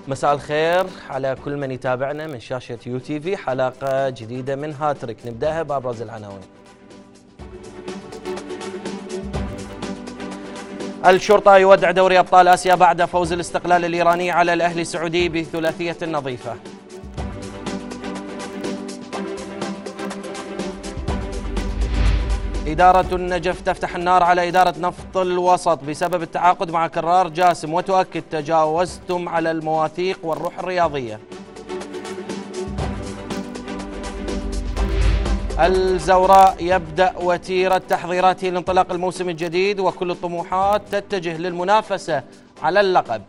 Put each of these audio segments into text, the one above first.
مساء الخير على كل من يتابعنا من شاشة يو تي في، حلقة جديدة من هاتريك نبدأها بأبرز العناوين. الشرطة يودع دوري أبطال آسيا بعد فوز الاستقلال الإيراني على الأهلي السعودي بثلاثية نظيفة. إدارة النجف تفتح النار على إدارة نفط الوسط بسبب التعاقد مع كرار جاسم، وتؤكد تجاوزتم على المواثيق والروح الرياضية. الزوراء يبدأ وتيرة تحضيراته لانطلاق الموسم الجديد، وكل الطموحات تتجه للمنافسة على اللقب.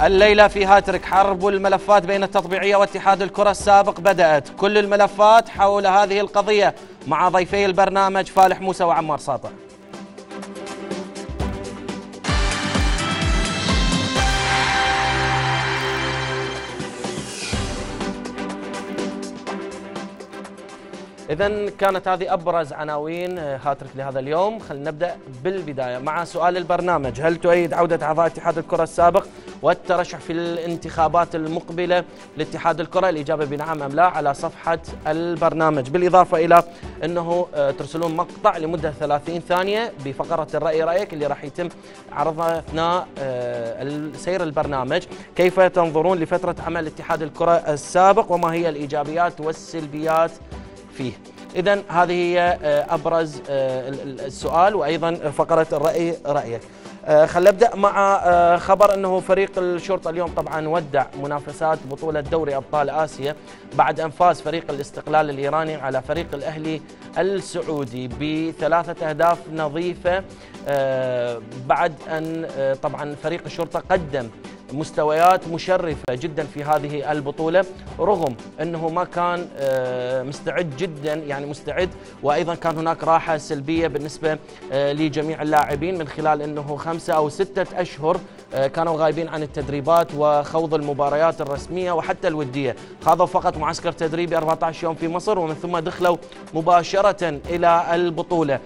الليلة في هاتريك حرب الملفات بين التطبيعية واتحاد الكرة السابق بدأت، كل الملفات حول هذه القضية مع ضيفي البرنامج فالح موسى وعمار ساطع. إذن كانت هذه أبرز عناوين هاتريك لهذا اليوم. خلينا نبدأ بالبداية مع سؤال البرنامج: هل تؤيد عودة أعضاء اتحاد الكرة السابق والترشح في الانتخابات المقبلة لاتحاد الكرة؟ الإجابة بنعم أم لا على صفحة البرنامج، بالإضافة إلى أنه ترسلون مقطع لمدة 30 ثانية بفقرة الرأي رأيك اللي راح يتم عرضها أثناء سير البرنامج. كيف تنظرون لفترة عمل اتحاد الكرة السابق وما هي الإيجابيات والسلبيات فيه؟ إذن هذه هي أبرز السؤال وأيضا فقرة الرأي رأيك. خلينا نبدأ مع خبر أنه فريق الشرطة اليوم طبعا ودع منافسات بطولة دوري أبطال آسيا بعد أن فاز فريق الاستقلال الإيراني على فريق الأهلي السعودي ب3 أهداف نظيفة، بعد أن طبعا فريق الشرطة قدم مستويات مشرفة جدا في هذه البطولة، رغم أنه ما كان مستعد جدا، يعني مستعد، وأيضا كان هناك راحة سلبية بالنسبة لجميع اللاعبين من خلال أنه 5 أو 6 أشهر كانوا غايبين عن التدريبات وخوض المباريات الرسمية وحتى الودية. خاضوا فقط معسكر تدريبي 14 يوم في مصر، ومن ثم دخلوا مباشرة إلى البطولة.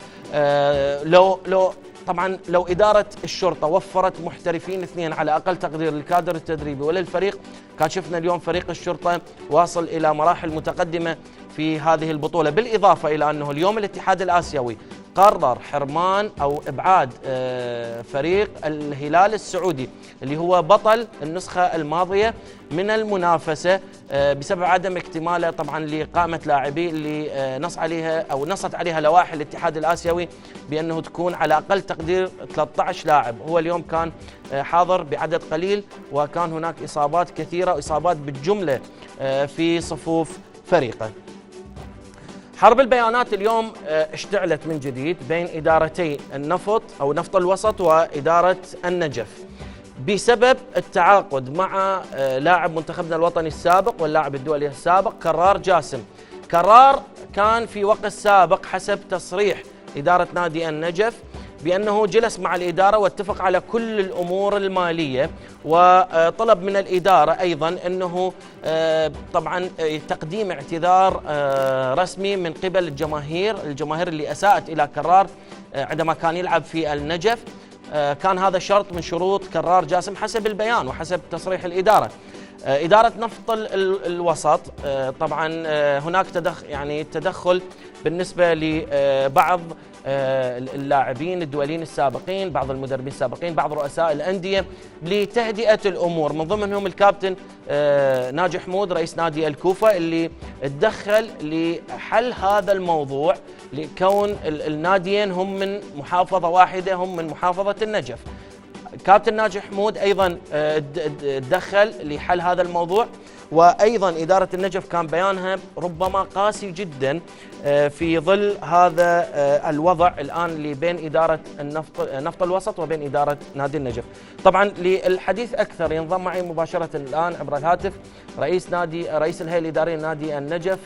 طبعا لو إدارة الشرطة وفرت محترفين 2 على أقل تقدير للكادر التدريبي وللفريق، كان شفنا اليوم فريق الشرطة واصل إلى مراحل متقدمة في هذه البطولة. بالإضافة إلى أنه اليوم الاتحاد الآسيوي قرر حرمان أو إبعاد فريق الهلال السعودي اللي هو بطل النسخة الماضية من المنافسة بسبب عدم اكتماله طبعا لقائمة لاعبي اللي نصت عليها لوائح الاتحاد الآسيوي بأنه تكون على أقل تقدير 13 لاعب. هو اليوم كان حاضر بعدد قليل، وكان هناك إصابات كثيرة وإصابات بالجملة في صفوف فريقه. حرب البيانات اليوم اشتعلت من جديد بين إدارتي النفط أو نفط الوسط وإدارة النجف بسبب التعاقد مع لاعب منتخبنا الوطني السابق واللاعب الدولي السابق كرار جاسم. كرار كان في وقت سابق حسب تصريح إدارة نادي النجف بأنه جلس مع الإدارة واتفق على كل الأمور المالية، وطلب من الإدارة أيضا أنه طبعا تقديم اعتذار رسمي من قبل الجماهير اللي أساءت إلى كرار عندما كان يلعب في النجف. كان هذا شرط من شروط كرار جاسم حسب البيان وحسب تصريح الإدارة. إدارة نفط الوسط طبعا هناك تدخل بالنسبة لبعض اللاعبين الدوليين السابقين، بعض المدربين السابقين، بعض رؤساء الأندية لتهدئة الأمور، من ضمنهم الكابتن ناجي حمود رئيس نادي الكوفة اللي تدخل لحل هذا الموضوع، لكون الناديين هم من محافظة واحدة، هم من محافظة النجف. كابتن ناجي حمود أيضا تدخل لحل هذا الموضوع، وأيضا إدارة النجف كان بيانها ربما قاسي جدا في ظل هذا الوضع الآن اللي بين إدارة نفط الوسط وبين إدارة نادي النجف. طبعا للحديث أكثر ينضم معي مباشرة الآن عبر الهاتف رئيس الهيئة الإدارية لنادي النجف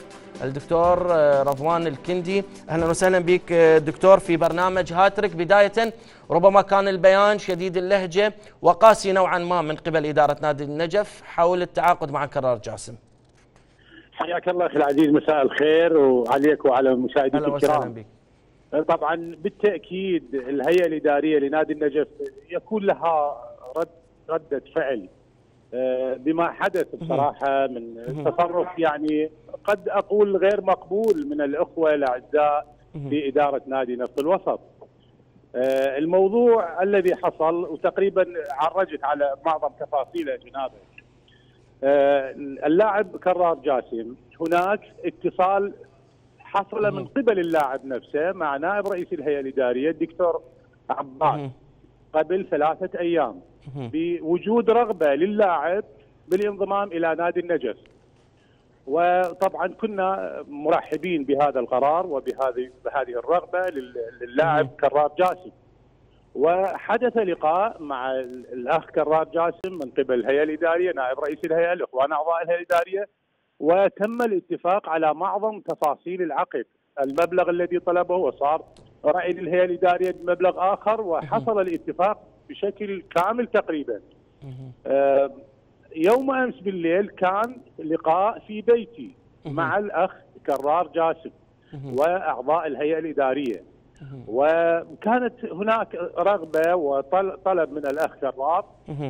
الدكتور رضوان الكندي. أهلا وسهلا بك دكتور في برنامج هاتريك. بداية ربما كان البيان شديد اللهجة وقاسي نوعا ما من قبل إدارة نادي النجف حول التعاقد مع كرار جاسم. حياك الله أخي العزيز، مساء الخير وعليك وعلى مشاهديك الكرام. طبعا بالتاكيد الهيئه الاداريه لنادي النجف يكون لها رده فعل بما حدث بصراحه من تصرف يعني قد اقول غير مقبول من الاخوه الاعزاء في اداره نادي نفط الوسط. الموضوع الذي حصل وتقريبا عرجت على معظم تفاصيله جنابه. اللاعب كرار جاسم هناك اتصال حصل من قبل اللاعب نفسه مع نائب رئيس الهيئه الاداريه الدكتور عباس قبل 3 أيام بوجود رغبه للاعب بالانضمام الى نادي النجف. وطبعا كنا مرحبين بهذا القرار وبهذه الرغبه للاعب كرار جاسم. وحدث لقاء مع الاخ كرار جاسم من قبل الهيئه الاداريه، نائب رئيس الهيئه، الاخوان اعضاء الهيئه الاداريه، وتم الاتفاق على معظم تفاصيل العقد، المبلغ الذي طلبه، وصار راي الهيئه الاداريه بمبلغ اخر، وحصل الاتفاق بشكل كامل تقريبا. يوم امس بالليل كان لقاء في بيتي مع الاخ كرار جاسم واعضاء الهيئه الاداريه، وكانت هناك رغبه وطلب من الاخ كرار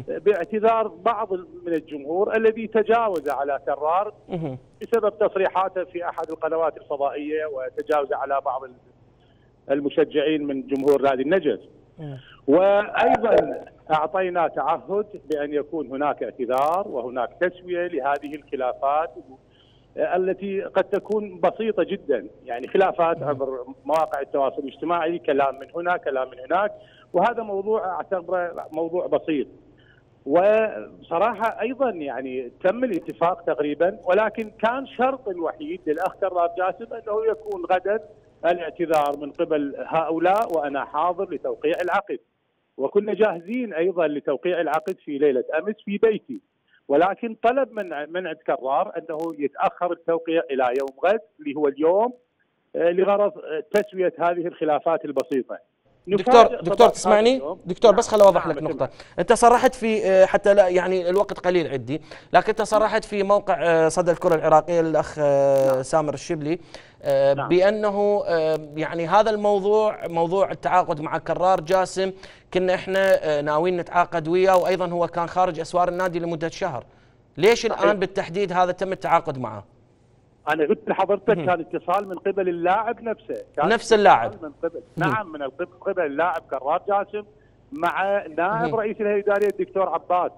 باعتذار بعض من الجمهور الذي تجاوز على كرار بسبب تصريحاته في احد القنوات الفضائيه، وتجاوز على بعض المشجعين من جمهور نادي النجف. وايضا اعطينا تعهد بان يكون هناك اعتذار وهناك تسويه لهذه الخلافات التي قد تكون بسيطه جدا، يعني خلافات عبر مواقع التواصل الاجتماعي، كلام من هنا كلام من هناك، وهذا موضوع اعتبره موضوع بسيط. وبصراحه ايضا يعني تم الاتفاق تقريبا، ولكن كان شرط الوحيد للاخ كرار جاسم انه يكون غدا الاعتذار من قبل هؤلاء وانا حاضر لتوقيع العقد. وكنا جاهزين ايضا لتوقيع العقد في ليله امس في بيتي، ولكن طلب من عند كرار انه يتاخر التوقيع الى يوم غد اللي هو اليوم لغرض تسويه هذه الخلافات البسيطه. دكتور تسمعني؟ دكتور بس خل اوضح لك نقطه. انت صرحت في حتى لا يعني الوقت قليل عندي، لكن انت صرحت في موقع صدى الكره العراقيه للاخ سامر الشبلي بانه يعني هذا الموضوع، موضوع التعاقد مع كرار جاسم، كنا احنا ناويين نتعاقد وياه، وايضا هو كان خارج اسوار النادي لمده شهر. ليش الان بالتحديد هذا تم التعاقد معه؟ أنا قلت لحضرتك كان اتصال من قبل اللاعب نفسه، كان نفس اللاعب من قبل نعم من قبل اللاعب كرار جاسم مع نائب رئيس الهيئة الإدارية الدكتور عباس،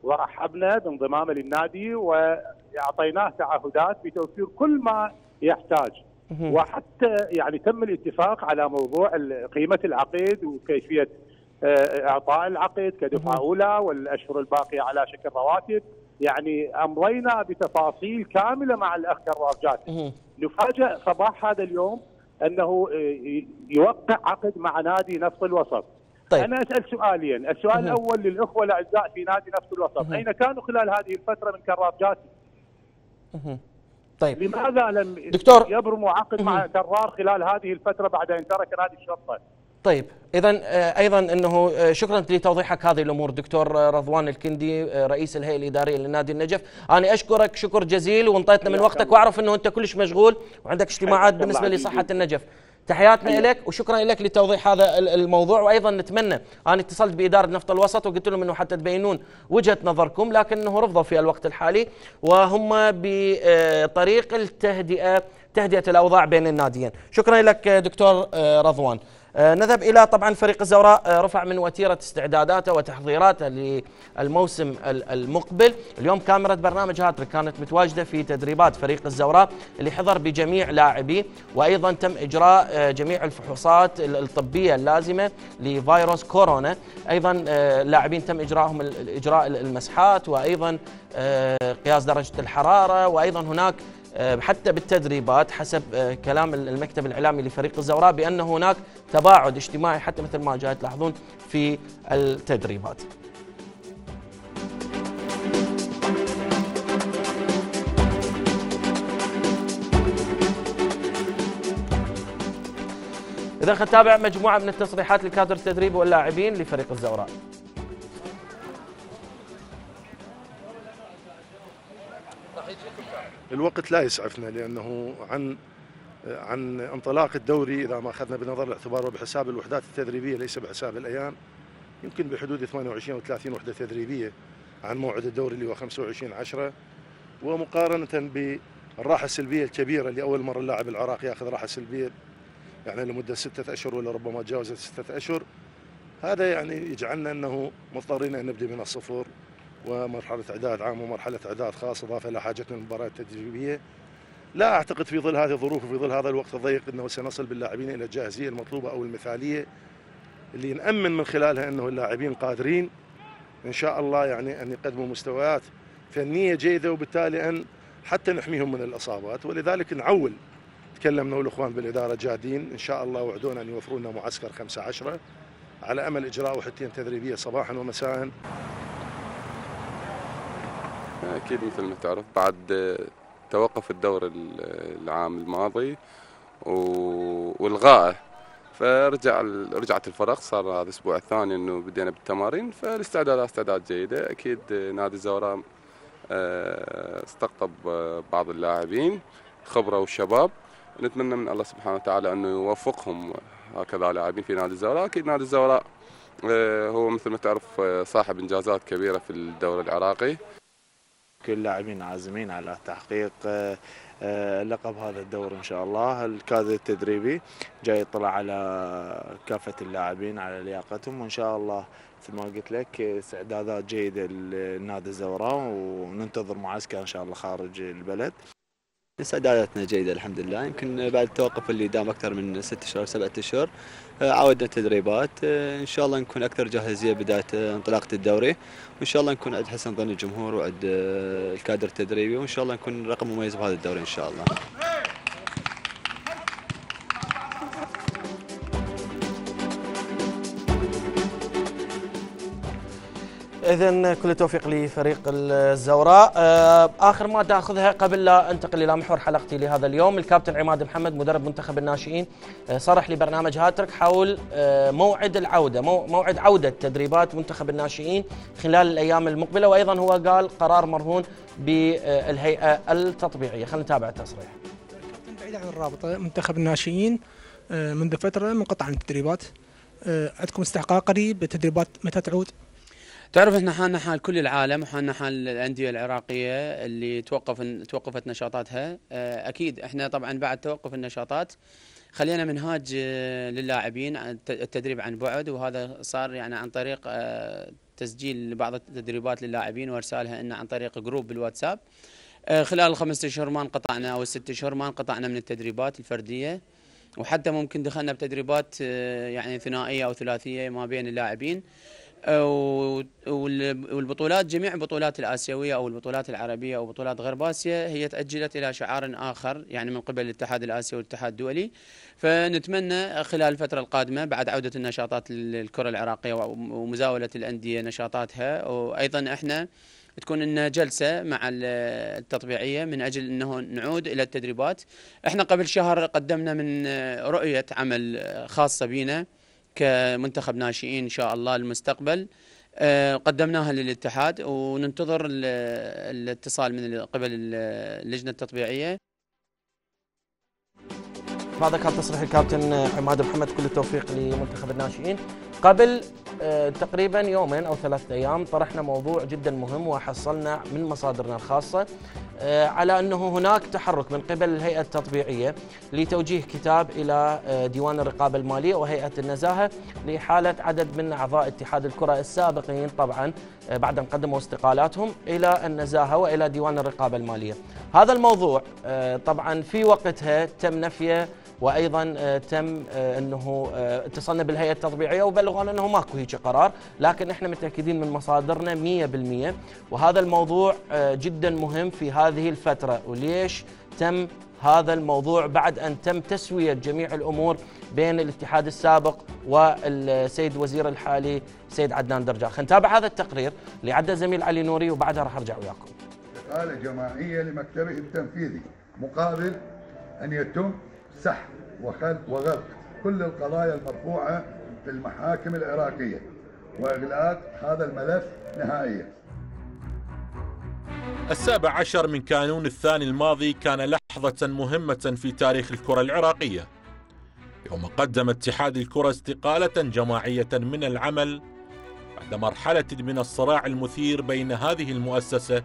ورحبنا بانضمامه للنادي وأعطيناه تعهدات بتوفير كل ما يحتاج. وحتى يعني تم الاتفاق على موضوع قيمة العقد وكيفية إعطاء العقد كدفعة أولى والأشهر الباقية على شكل رواتب. يعني امضينا بتفاصيل كامله مع الاخ كرار جاسم. نفاجأ صباح هذا اليوم انه يوقع عقد مع نادي نفط الوسط. طيب. انا اسال سؤالين، السؤال الاول للاخوه الاعزاء في نادي نفط الوسط، اين كانوا خلال هذه الفتره من كرار جاسم؟ طيب. لماذا لم يبرموا عقد مع كرار خلال هذه الفتره بعد ان ترك نادي الشرطه؟ طيب، اذا ايضا انه شكرا لتوضيحك هذه الامور دكتور رضوان الكندي رئيس الهيئه الاداريه لنادي النجف. انا اشكرك شكر جزيل وانطيتنا من وقتك، واعرف انه انت كلش مشغول وعندك اجتماعات بالنسبه لصحه النجف. تحياتنا لك وشكرا لك لتوضيح هذا الموضوع. وايضا نتمنى، انا اتصلت باداره نفط الوسط وقلت لهم انه حتى تبينون وجهه نظركم، لكنه رفضوا في الوقت الحالي، وهم بطريق التهدئه، تهدئه الاوضاع بين الناديين. شكرا لك دكتور رضوان. نذهب إلى طبعا فريق الزوراء، رفع من وتيرة استعداداته وتحضيراته للموسم المقبل. اليوم كاميرا برنامج هاتريك كانت متواجدة في تدريبات فريق الزوراء اللي حضر بجميع لاعبيه، وأيضا تم إجراء جميع الفحوصات الطبية اللازمة لفيروس كورونا. أيضا اللاعبين تم إجراء المسحات، وأيضا قياس درجة الحرارة، وأيضا هناك حتى بالتدريبات حسب كلام المكتب الإعلامي لفريق الزوراء بأن هناك تباعد اجتماعي حتى مثل ما جاء تلاحظون في التدريبات. إذا خلينا نتابع مجموعة من التصريحات للكادر التدريبي واللاعبين لفريق الزوراء. الوقت لا يسعفنا لأنه عن عن انطلاق الدوري إذا ما أخذنا بنظر الاعتبار وبحساب الوحدات التدريبية ليس بحساب الأيام، يمكن بحدود 28 أو 30 وحدة تدريبية عن موعد الدوري اللي هو 25/10. ومقارنة بالراحة السلبية الكبيرة اللي أول مرة اللاعب العراقي يأخذ راحة سلبية يعني لمدة 6 أشهر ولا ربما تجاوزت 6 أشهر، هذا يعني يجعلنا أنه مضطرين أن نبدأ من الصفر، ومرحلة إعداد عام ومرحلة إعداد خاص إضافة إلى حاجتنا للمباريات التدريبية. لا أعتقد في ظل هذه الظروف وفي ظل هذا الوقت الضيق أنه سنصل باللاعبين إلى الجاهزية المطلوبة أو المثالية اللي نأمن من خلالها أنه اللاعبين قادرين إن شاء الله يعني أن يقدموا مستويات فنية جيدة، وبالتالي أن حتى نحميهم من الإصابات. ولذلك نعول، تكلمنا والإخوان بالإدارة جادين إن شاء الله، وعدونا أن يوفروا لنا معسكر 15/10 على أمل إجراء وحدتين تدريبية صباحا ومساء. أكيد مثل ما تعرف بعد توقف الدور العام الماضي والغائه، رجعت الفرق، صار هذا الاسبوع الثاني انه بدينا بالتمارين، فالاستعدادات استعداد جيده. اكيد نادي الزوراء استقطب بعض اللاعبين خبره والشباب، نتمنى من الله سبحانه وتعالى انه يوفقهم هكذا لاعبين في نادي الزوراء. اكيد نادي الزوراء هو مثل ما تعرف صاحب انجازات كبيره في الدوري العراقي. كل اللاعبين عازمين على تحقيق لقب هذا الدور ان شاء الله. الكادر التدريبي جاي يطلع على كافه اللاعبين على لياقتهم، وان شاء الله مثل ما قلت لك استعدادات جيده لنادي الزوراء، وننتظر معسكر ان شاء الله خارج البلد. استعداداتنا جيدة الحمد لله. يمكن بعد التوقف اللي دام أكثر من 6 شهور 7 أشهر عودنا التدريبات، إن شاء الله نكون أكثر جاهزية بداية انطلاقة الدوري، وإن شاء الله نكون عند حسن ظن الجمهور وعند الكادر التدريبي، وإن شاء الله نكون رقم مميز بهذا الدوري إن شاء الله. إذن كل التوفيق لفريق الزوراء. آخر مادة أخذها قبل لا أنتقل إلى محور حلقتي لهذا اليوم، الكابتن عماد محمد مدرب منتخب الناشئين صرح لبرنامج هاتريك حول موعد العودة، موعد عودة تدريبات منتخب الناشئين خلال الأيام المقبلة، وأيضا هو قال قرار مرهون بالهيئة التطبيعية. خلينا نتابع التصريح. الكابتن بعيد عن الرابطة، منتخب الناشئين منذ فترة منقطع عن التدريبات، عندكم استحقاق قريب، التدريبات متى تعود؟ تعرف احنا حالنا حال كل العالم، وحالنا حال الانديه العراقيه اللي توقفت نشاطاتها. اكيد احنا طبعا بعد توقف النشاطات خلينا منهاج للاعبين التدريب عن بعد، وهذا صار يعني عن طريق تسجيل بعض التدريبات للاعبين وارسالها لنا عن طريق جروب بالواتساب. خلال ال5 اشهر ما انقطعنا او ال6 اشهر ما انقطعنا من التدريبات الفرديه، وحتى ممكن دخلنا بتدريبات يعني ثنائيه او ثلاثيه ما بين اللاعبين. والبطولات جميع البطولات الآسيوية أو البطولات العربية أو بطولات غرب آسيا هي تأجلت إلى شعار آخر يعني من قبل الاتحاد الآسيوي والاتحاد الدولي. فنتمنى خلال الفترة القادمة بعد عودة النشاطات للكرة العراقية ومزاولة الأندية نشاطاتها، وأيضا احنا تكون لنا جلسة مع التطبيعية من أجل أنه نعود إلى التدريبات. احنا قبل شهر قدمنا من رؤية عمل خاصة بنا كمنتخب ناشئين إن شاء الله المستقبل، قدمناها للاتحاد وننتظر الاتصال من قبل اللجنة التطبيعية. هذا كان تصريح الكابتن عماد محمد، كل التوفيق لمنتخب الناشئين. قبل تقريبا 2 أو 3 أيام طرحنا موضوع جدا مهم وحصلنا من مصادرنا الخاصة على أنه هناك تحرك من قبل الهيئة التطبيعية لتوجيه كتاب إلى ديوان الرقابة المالية وهيئة النزاهة لإحالة عدد من أعضاء اتحاد الكرة السابقين طبعا بعد أن قدموا استقالاتهم إلى النزاهة وإلى ديوان الرقابة المالية. هذا الموضوع طبعا في وقتها تم نفيه، وايضا تم انه اتصلنا بالهيئه التطبيعيه وبلغونا انه ماكو هيك قرار، لكن احنا متاكدين من مصادرنا 100%، وهذا الموضوع جدا مهم في هذه الفتره. وليش تم هذا الموضوع؟ بعد ان تم تسويه جميع الامور بين الاتحاد السابق والسيد وزير الحالي سيد عدنان درجال. خلينا نتابع هذا التقرير اللي عدى زميل علي نوري وبعدها راح ارجع وياكم. استقاله جماعيه لمكتبه التنفيذي مقابل ان يتم سحب وغلق كل القضايا المرفوعة في المحاكم العراقية وإغلاق هذا الملف نهائيا. 17 من كانون الثاني الماضي كان لحظة مهمة في تاريخ الكرة العراقية، يوم قدم اتحاد الكرة استقالة جماعية من العمل بعد مرحلة من الصراع المثير بين هذه المؤسسة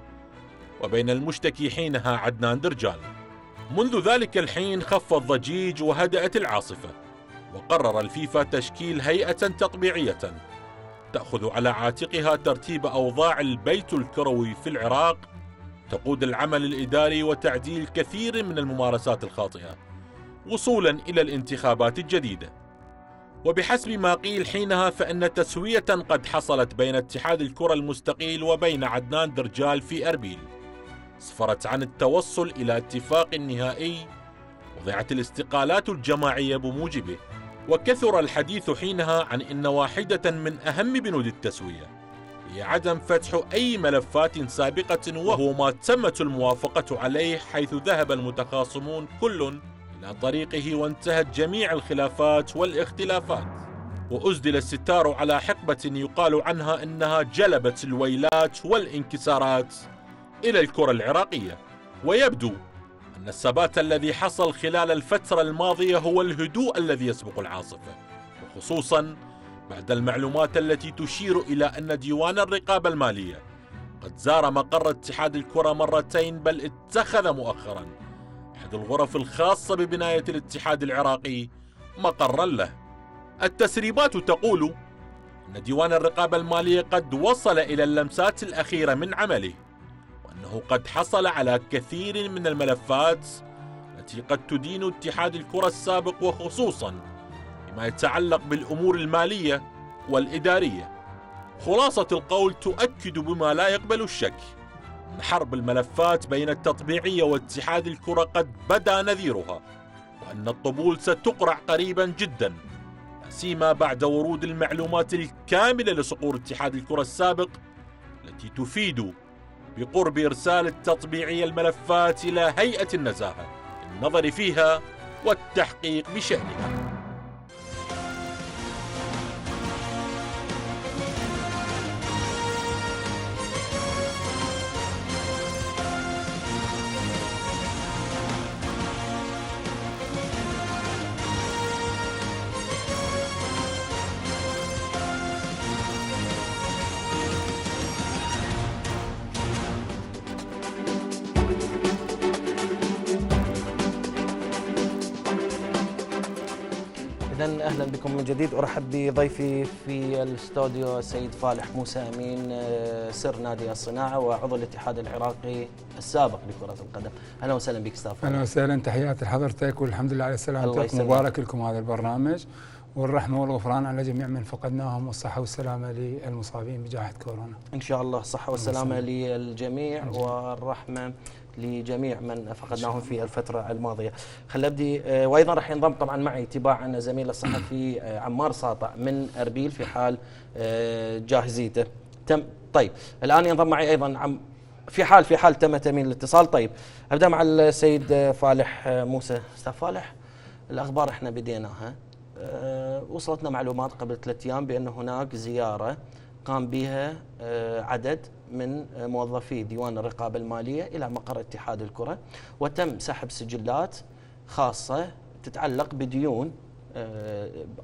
وبين المشتكي حينها عدنان درجال. منذ ذلك الحين خف الضجيج وهدأت العاصفة، وقرر الفيفا تشكيل هيئة تطبيعية تأخذ على عاتقها ترتيب أوضاع البيت الكروي في العراق، تقود العمل الإداري وتعديل كثير من الممارسات الخاطئة وصولا إلى الانتخابات الجديدة. وبحسب ما قيل حينها فإن تسوية قد حصلت بين اتحاد الكرة المستقيل وبين عدنان درجال في أربيل اسفرت عن التوصل إلى اتفاق نهائي وضعت الاستقالات الجماعية بموجبه. وكثر الحديث حينها عن أن واحدة من أهم بنود التسوية هي عدم فتح أي ملفات سابقة، وهو ما تمت الموافقة عليه، حيث ذهب المتخاصمون كل إلى طريقه وانتهت جميع الخلافات والاختلافات، وأسدل الستار على حقبة يقال عنها أنها جلبت الويلات والانكسارات إلى الكرة العراقية. ويبدو أن الثبات الذي حصل خلال الفترة الماضية هو الهدوء الذي يسبق العاصفة، وخصوصا بعد المعلومات التي تشير إلى أن ديوان الرقابة المالية قد زار مقر اتحاد الكرة مرتين، بل اتخذ مؤخرا أحد الغرف الخاصة ببناية الاتحاد العراقي مقرا له. التسريبات تقول أن ديوان الرقابة المالية قد وصل إلى اللمسات الأخيرة من عمله، وأنه قد حصل على كثير من الملفات التي قد تدين اتحاد الكرة السابق، وخصوصا فيما يتعلق بالأمور المالية والإدارية. خلاصة القول تؤكد بما لا يقبل الشك أن حرب الملفات بين التطبيعية واتحاد الكرة قد بدا نذيرها، وأن الطبول ستقرع قريبا جدا، سيما بعد ورود المعلومات الكاملة لصقور اتحاد الكرة السابق التي تفيد بقرب إرسال التطبيعية الملفات إلى هيئة النزاهة للنظر فيها والتحقيق بشأنها. إذن أهلا بكم من جديد. أرحب بضيفي في الاستوديو السيد فالح موسى أمين، سر نادي الصناعة وعضو الاتحاد العراقي السابق لكرة القدم. أهلا وسهلا بك أستاذ فالح. أهلا وسهلا، تحياتي لحضرتك والحمد لله على سلامتك. مبارك لكم هذا البرنامج، والرحمة والغفران على جميع من فقدناهم، والصحة والسلامة للمصابين بجائحة كورونا. إن شاء الله الصحة والسلامة للجميع والرحمة لجميع من فقدناهم في الفترة الماضية. خل أبدي، وأيضا راح ينضم طبعا معي تباعا زميل الصحفي عمار ساطع من أربيل في حال جاهزيته. طيب الآن ينضم معي أيضا في حال تم تأمين الاتصال. طيب أبدأ مع السيد فالح موسى. أستاذ فالح، الأخبار احنا بديناها، وصلتنا معلومات قبل 3 أيام بأن هناك زيارة قام بها عدد من موظفي ديوان الرقابة المالية إلى مقر اتحاد الكرة، وتم سحب سجلات خاصة تتعلق بديون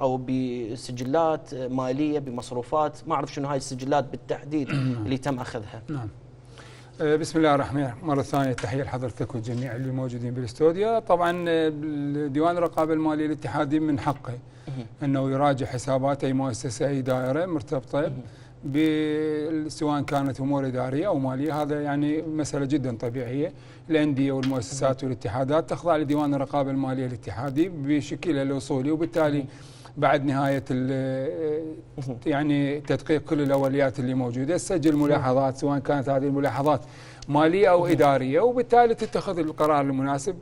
أو بسجلات مالية بمصروفات، ما أعرف شنو هاي السجلات بالتحديد اللي تم أخذها. نعم. بسم الله الرحمن الرحيم. مرة ثانية تحية لحضرتك والجميع اللي موجودين بالاستوديو. طبعا ديوان الرقابة المالية الاتحادي من حقه أنه يراجع حسابات أي مؤسسة أي دائرة مرتبطة سواء كانت أمور إدارية أو مالية. هذا يعني مسألة جدا طبيعية. الأندية والمؤسسات والاتحادات تخضع لديوان الرقابة المالية الاتحادي بشكلها الأصولي، وبالتالي بعد نهاية يعني تدقيق كل الأوليات اللي موجودة تسجل ملاحظات سواء كانت هذه الملاحظات مالية أو إدارية، وبالتالي تتخذ القرار المناسب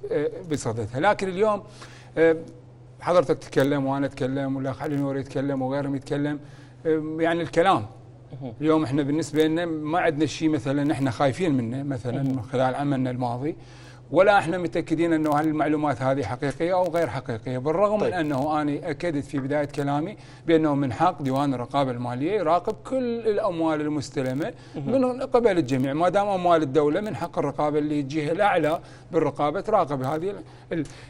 بصددها. لكن اليوم حضرتك تتكلم وأنا أتكلم والأخ علي نور يتكلم وغيرهم يتكلم، يعني الكلام اليوم احنا بالنسبة لنا ما عندنا شيء مثلا احنا خايفين منه مثلا من خلال عملنا الماضي، ولا احنا متاكدين انه هل المعلومات هذه حقيقيه او غير حقيقيه، بالرغم طيب. من انه انا اكدت في بدايه كلامي بانه من حق ديوان الرقابه الماليه يراقب كل الاموال المستلمه من قبل الجميع، ما دام اموال الدوله من حق الرقابه اللي الجهه الاعلى بالرقابه تراقب هذه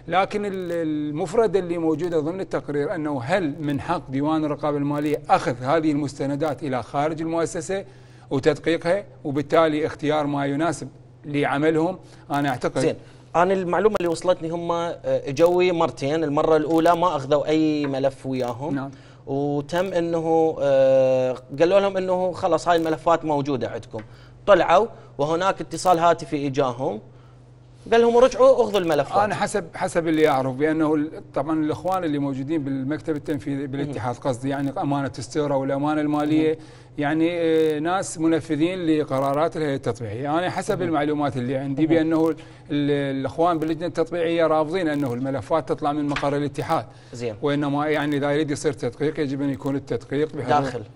لكن المفردة اللي موجودة ضمن التقرير أنه هل من حق ديوان الرقابة المالية أخذ هذه المستندات إلى خارج المؤسسة وتدقيقها وبالتالي اختيار ما يناسب لعملهم. أنا أعتقد زين، أنا المعلومة اللي وصلتني هم اجوي مرتين، المرة الأولى ما أخذوا أي ملف وياهم. نعم. وتم أنه قالوا لهم أنه خلاص هاي الملفات موجودة عندكم، طلعوا وهناك اتصال هاتفي إجاهم قال لهم رجعوا اخذوا الملفات. انا حسب اللي اعرف بانه طبعا الاخوان اللي موجودين بالمكتب التنفيذي بالاتحاد قصدي يعني امانه الستيرة والامانه الماليه يعني ناس منفذين لقرارات الهيئه التطبيعيه. انا حسب المعلومات اللي عندي بانه الاخوان باللجنه التطبيعيه رافضين انه الملفات تطلع من مقر الاتحاد. زين. وانما يعني اذا يريد يصير تدقيق يجب ان يكون التدقيق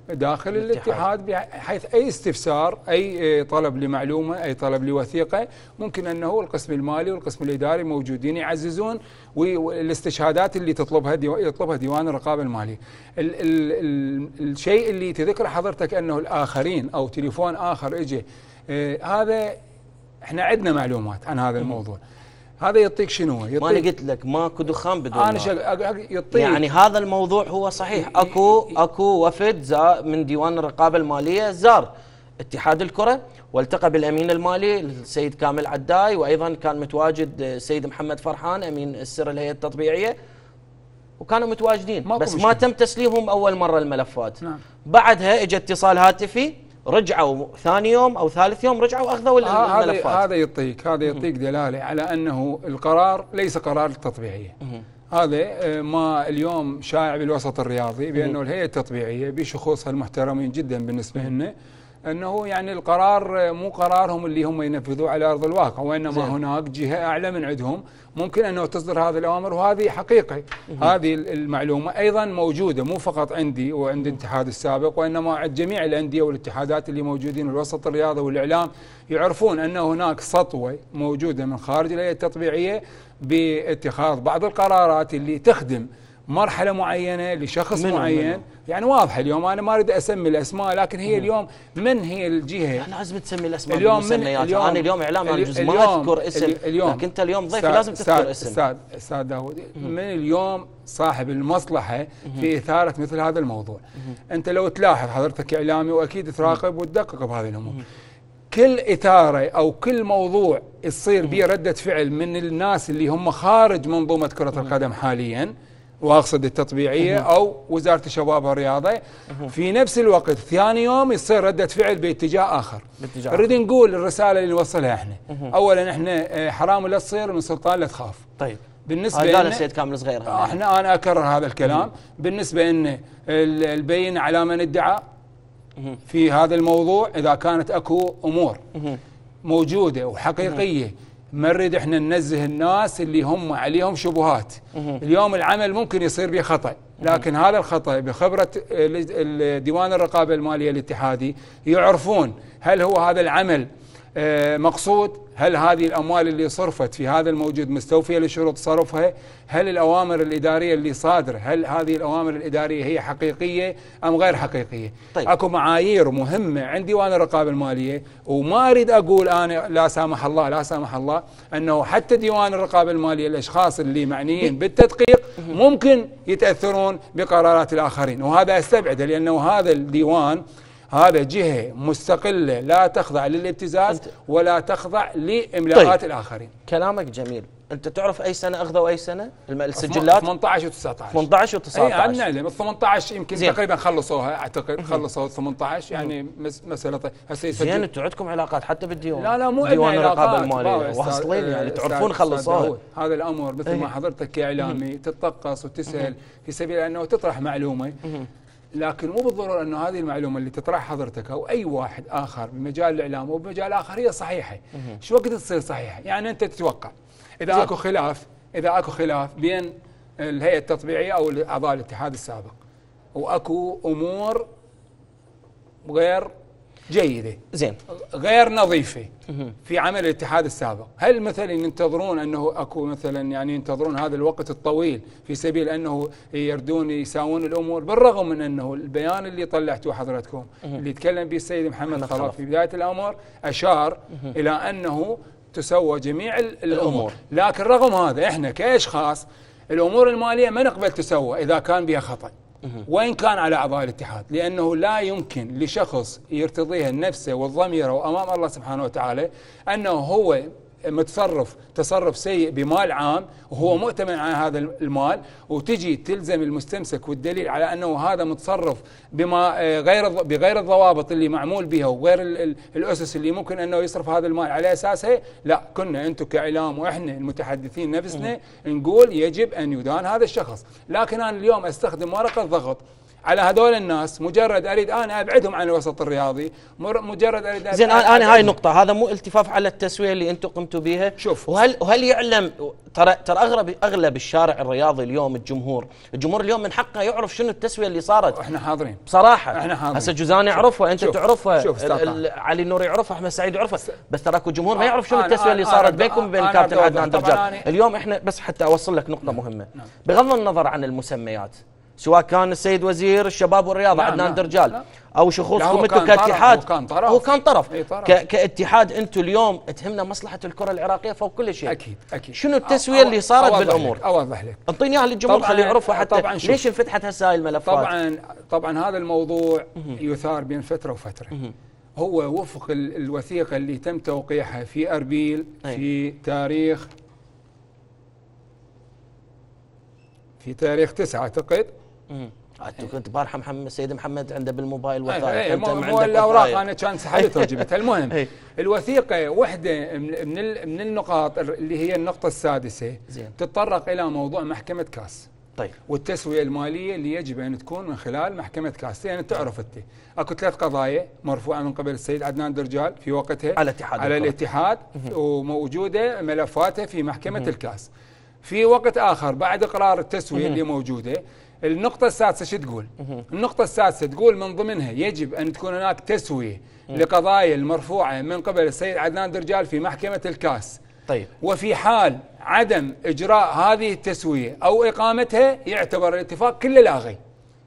داخل الاتحاد، بحيث اي استفسار اي طلب لمعلومه اي طلب لوثيقه ممكن انه القسم المالي والقسم الاداري موجودين يعززون، والاستشهادات اللي يطلبها ديوان الرقابه الماليه. الشيء اللي تذكر حضرتك انه الاخرين او تليفون اخر اجى، هذا احنا عندنا معلومات عن هذا الموضوع. هذا يعطيك شنو؟ ما انا قلت لك ماكو دخان بدون انا يعطيك يعني هذا الموضوع هو صحيح. اكو وفد من ديوان الرقابه الماليه زار اتحاد الكره والتقى بالامين المالي السيد كامل عداي، وايضا كان متواجد السيد محمد فرحان امين السر الهيئه التطبيعيه، وكانوا متواجدين بس ما تم تسليمهم اول مره الملفات. نعم. بعدها اجى اتصال هاتفي، رجعوا ثاني يوم او ثالث يوم رجعوا اخذوا الملفات. هذا يعطيك دلاله على انه القرار ليس قرار التطبيعيه. هذا ما اليوم شائع بالوسط الرياضي بانه الهيئه التطبيعيه بشخوصها المحترمين جدا بالنسبه لنا انه يعني القرار مو قرارهم اللي هم ينفذوه على ارض الواقع، وانما هناك جهه اعلى من عندهم ممكن انه تصدر هذه الاوامر، وهذه حقيقه. هذه المعلومه ايضا موجوده مو فقط عندي وعند الاتحاد السابق، وانما عند جميع الانديه والاتحادات اللي موجودين بالوسط الرياضي والاعلام يعرفون ان هناك سطوه موجوده من خارج الهيئه التطبيعيه باتخاذ بعض القرارات اللي تخدم مرحله معينه لشخص معين. يعني واضح اليوم انا ما اريد اسمي الاسماء، لكن هي اليوم من هي الجهه؟ احنا لازم تسمي الاسماء بالمسميات. انا اليوم اعلام عن جزء ما اذكر اسم، لكن انت اليوم ضيف لازم تذكر اسم. استاذ داود، من اليوم صاحب المصلحه في اثاره مثل هذا الموضوع. انت لو تلاحظ حضرتك اعلامي واكيد تراقب وتدقق بهذه الامور، كل إثارة أو كل موضوع يصير به ردة فعل من الناس اللي هم خارج منظومة كرة القدم حاليا، واقصد التطبيعيه او وزاره الشباب والرياضه، في نفس الوقت ثاني يوم يصير رده فعل باتجاه اخر. نريد نقول الرساله اللي نوصلها احنا، اولا احنا حرام لا تصير من سلطان لا تخاف. طيب بالنسبه قال السيد كامل صغير انا اكرر هذا الكلام. بالنسبه ان البين على من ادعى في هذا الموضوع، اذا كانت اكو امور موجوده وحقيقيه ما نريد احنا ننزه الناس اللي هم عليهم شبهات. اليوم العمل ممكن يصير به خطأ، لكن هذا الخطأ بخبرة ديوان الرقابة المالية الاتحادي يعرفون هل هو هذا العمل مقصود، هل هذه الأموال اللي صرفت في هذا الموجود مستوفية لشروط صرفها، هل الأوامر الإدارية اللي صادرة هل هذه الأوامر الإدارية هي حقيقية أم غير حقيقية. طيب. أكو معايير مهمة عند ديوان الرقابة المالية، وما أريد أقول أنا لا سامح الله أنه حتى ديوان الرقابة المالية الأشخاص اللي معنيين بالتدقيق ممكن يتأثرون بقرارات الآخرين، وهذا أستبعده لأنه هذا الديوان هذا جهة مستقلة لا تخضع للابتزاز ولا تخضع لإملاءات الآخرين. كلامك جميل. أنت تعرف أي سنة أخذوا أي سنة السجلات؟ 18 و19. 18 و19. أي نعلم. 18 يمكن تقريبا خلصوها، أعتقد خلصوا 18 يعني مسألة هسه زين. أنتم عندكم علاقات حتى بالديوان؟ لا مو ديوان الرقابة المالية واصلين يعني تعرفون خلصوها. هذا الأمر مثل ما حضرتك كإعلامي تتطقص وتسأل في سبيل أنه تطرح معلومة، لكن مو بالضرورة أنه هذه المعلومة اللي تطرح حضرتك أو أي واحد آخر بمجال الإعلام أو بمجال آخر هي صحيحة. شو وقت تصير صحيحة؟ يعني أنت تتوقع إذا أكو خلاف بين الهيئة التطبيعية أو أعضاء الاتحاد السابق، وأكو أمور غير جيده زين غير نظيفه في عمل الاتحاد السابق. هل مثلا ينتظرون انه اكو مثلا يعني ينتظرون هذا الوقت الطويل في سبيل انه يردون يساوون الامور؟ بالرغم من انه البيان اللي طلعتوه حضرتكم اللي تكلم به السيد محمد خلف في بدايه الامر اشار الى انه تسوى جميع الامور، لكن رغم هذا احنا كاشخاص الامور الماليه ما نقبل تسوى اذا كان بها خطا وإن كان على أعضاء الاتحاد، لأنه لا يمكن لشخص يرتضيها نفسه والضمير وأمام الله سبحانه وتعالى أنه هو متصرف تصرف سيء بمال عام وهو مؤتمن على هذا المال، وتجي تلزم المستمسك والدليل على أنه هذا متصرف بما بغير الضوابط اللي معمول بها وغير الأسس اللي ممكن أنه يصرف هذا المال على أساسها. لا، كنا أنتم كإعلام وإحنا المتحدثين نفسنا نقول يجب أن يدان هذا الشخص، لكن أنا اليوم أستخدم ورقة ضغط على هدول الناس، مجرد اريد انا ابعدهم عن الوسط الرياضي، مجرد اريد زين. انا هاي النقطه، هذا مو التفاف على التسويه اللي انتم قمتوا بها. شوف، وهل يعلم ترى اغلب الشارع الرياضي اليوم الجمهور اليوم من حقه يعرف شنو التسويه اللي صارت. احنا حاضرين بصراحه، احنا حاضرين. هسه جوزان يعرفها، انت تعرفها، علي النور يعرفها، احمد سعيد يعرفها، بس تراكوا الجمهور ما يعرف شنو التسويه اللي صارت بينكم وبين كابتن عدنان درجال. اليوم احنا بس حتى اوصل لك نقطه مهمه، بغض النظر عن المسميات، سواء كان السيد وزير الشباب والرياضه عدنان درجال او شخوصكم انتم كاتحاد، هو كان طرف كاتحاد. انتم اليوم تهمنا مصلحه الكره العراقيه فوق كل شيء. اكيد شنو التسويه اللي صارت بالامور؟ اوضح لك، انطيني اياها للجمهور خليه يعرفها حتى ليش انفتحت هسه هاي الملفات. طبعا هذا الموضوع يثار بين فتره وفتره. هو وفق الوثيقه اللي تم توقيعها في اربيل في تاريخ 9 اعتقد. انت كنت بارحه السيد محمد عنده بالموبايل وثائق، انت مو الاوراق انا كان سحبتها وجبتها. المهم الوثيقه واحده من النقاط اللي هي النقطه السادسه تتطرق الى موضوع محكمه كاس. طيب، والتسويه الماليه اللي يجب ان تكون من خلال محكمه كاس. يعني تعرف انت اكو 3 قضايا مرفوعه من قبل السيد عدنان درجال في وقتها على الاتحاد وموجوده ملفاتها في محكمه الكاس. في وقت آخر بعد إقرار التسوية اللي موجودة، النقطة السادسة شو تقول؟ النقطة السادسة تقول من ضمنها يجب أن تكون هناك تسوية لقضايا المرفوعة من قبل السيد عدنان درجال في محكمة الكاس. طيب، وفي حال عدم إجراء هذه التسوية أو إقامتها يعتبر الاتفاق كله لاغي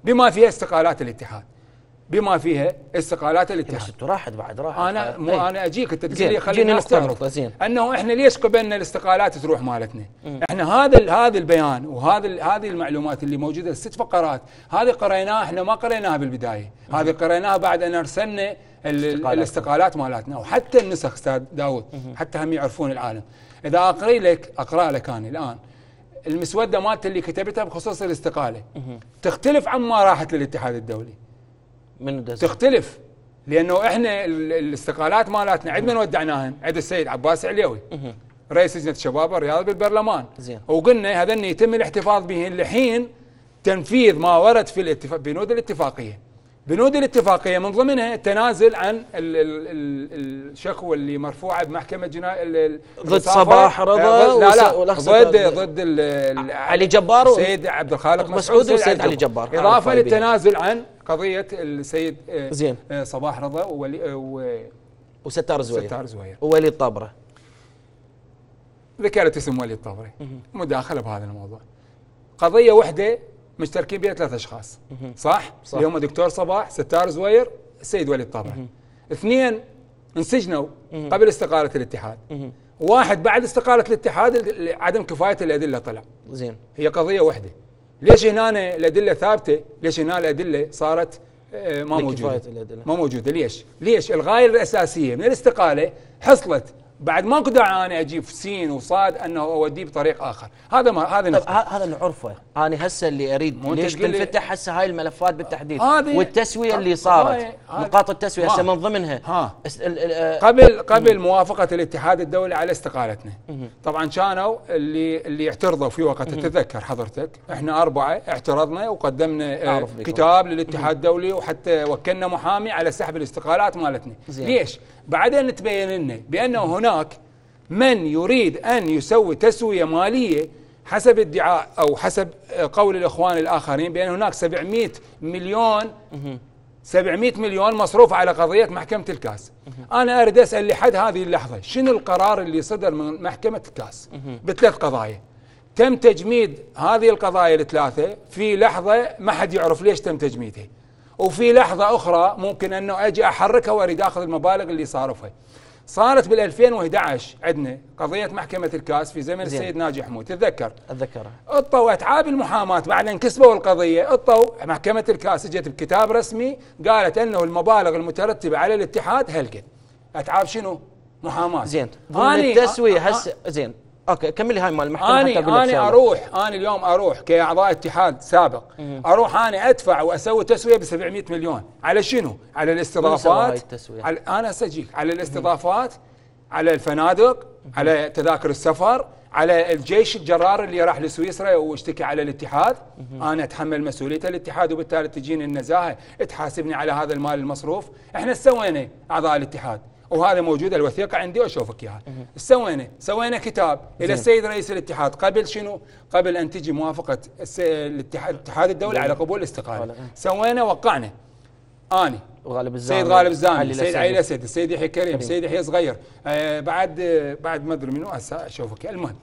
بما فيها استقالات الاتحاد. بس راحت بعد راحت. انا اجيك انت تقول لي خلينا نستغرب انه احنا ليش قبلنا الاستقالات تروح مالتنا. احنا هذا البيان هذه المعلومات اللي موجوده 6 فقرات، هذه قريناها، احنا ما قريناها بالبدايه، هذه قريناها بعد ان ارسلنا الاستقالات مالتنا، وحتى النسخ استاذ داود حتى هم يعرفون العالم. اذا اقرا لك انا الان المسوده مالتي اللي كتبتها بخصوص الاستقاله تختلف عما راحت للاتحاد الدولي. تختلف، لانه احنا الاستقالات مالتنا عند من ودعناهن؟ عند السيد عباس عليوي رئيس لجنه الشباب والرياضه بالبرلمان. وقلنا هذن يتم الاحتفاظ بهن لحين تنفيذ ما ورد في بنود الاتفاقيه من ضمنها التنازل عن الشكوى اللي مرفوعه بمحكمه ضد صباح رضا ضد علي جبار والسيد عبد الخالق مسعود والسيد علي جبار، اضافه للتنازل عن قضيه السيد زين صباح رضا وستار زوير وولي الطابره. ذكرت اسم ولي الطابره مداخله بهذا الموضوع. قضيه واحده مشتركين بها 3 اشخاص، صح؟ اللي هم دكتور صباح، ستار زوير، السيد ولي الطابره. 2 انسجنوا قبل استقاله الاتحاد. 1 بعد استقاله الاتحاد عدم كفايه الادله طلع. زين، هي قضيه واحده. ليش هنا الادله ثابته؟ ليش هنا الادله صارت ما موجوده؟ ليش؟ الغايه الاساسيه من الاستقاله حصلت بعد ماكو داعي انا اجيب سين وصاد انه اوديه بطريق اخر. هذا هذا نعرفه. انا هسه اللي اريد ليش تنفتح هسه هاي الملفات بالتحديد والتسويه اللي صارت، نقاط التسويه هسه من ضمنها قبل موافقه الاتحاد الدولي على استقالتنا. طبعا كانوا اللي اعترضوا في وقت تتذكر حضرتك، احنا 4 اعترضنا وقدمنا كتاب للاتحاد الدولي وحتى وكلنا محامي على سحب الاستقالات مالتنا. ليش؟ بعدين تبين لنا بانه هناك من يريد ان يسوي تسويه ماليه حسب ادعاء او حسب قول الاخوان الاخرين بان هناك 700 مليون 700 مليون مصروف على قضيه محكمه الكاس. انا اريد اسال لحد هذه اللحظه شنو القرار اللي صدر من محكمه الكاس بثلاث قضايا؟ تم تجميد هذه القضايا الثلاثه في لحظه ما حد يعرف ليش تم تجميدها، وفي لحظه اخرى ممكن انه اجي احركها واريد اخذ المبالغ اللي صارفها. صارت بال 2011 عندنا قضيه محكمه الكاس في زمن السيد ناجي حمود، تتذكرها؟ اتذكرها. اطوا اتعاب المحاماه بعد ان كسبوا القضيه، اطوا محكمه الكاس اجت بكتاب رسمي قالت انه المبالغ المترتبه على الاتحاد هالقد. اتعاب شنو؟ محاماه. زين. التسويه هسه زين. اوكي كملي هاي مال المحكمه. انا اليوم اروح كاعضاء اتحاد سابق اروح انا ادفع واسوي تسويه ب 700 مليون على شنو؟ على الاستضافات. انا اسجيك على الاستضافات، على الفنادق، على تذاكر السفر، على الجيش الجرار اللي راح لسويسرا واشتكي على الاتحاد. انا اتحمل مسؤوليه الاتحاد وبالتالي تجيني النزاهه تحاسبني على هذا المال المصروف. احنا سوينا اعضاء الاتحاد وهذا موجود الوثيقه عندي واشوفك اياها. سوينا كتاب الى السيد رئيس الاتحاد قبل شنو؟ قبل ان تجي موافقه الاتحاد الدولي على قبول الاستقاله. سوينا وقعنا اني وغالب الزامي، السيد غالب الزامي، السيد علي الاسد، السيد يحيى كريم، السيد يحيى صغير، بعد ما ادري منو هسه اشوفك. المهم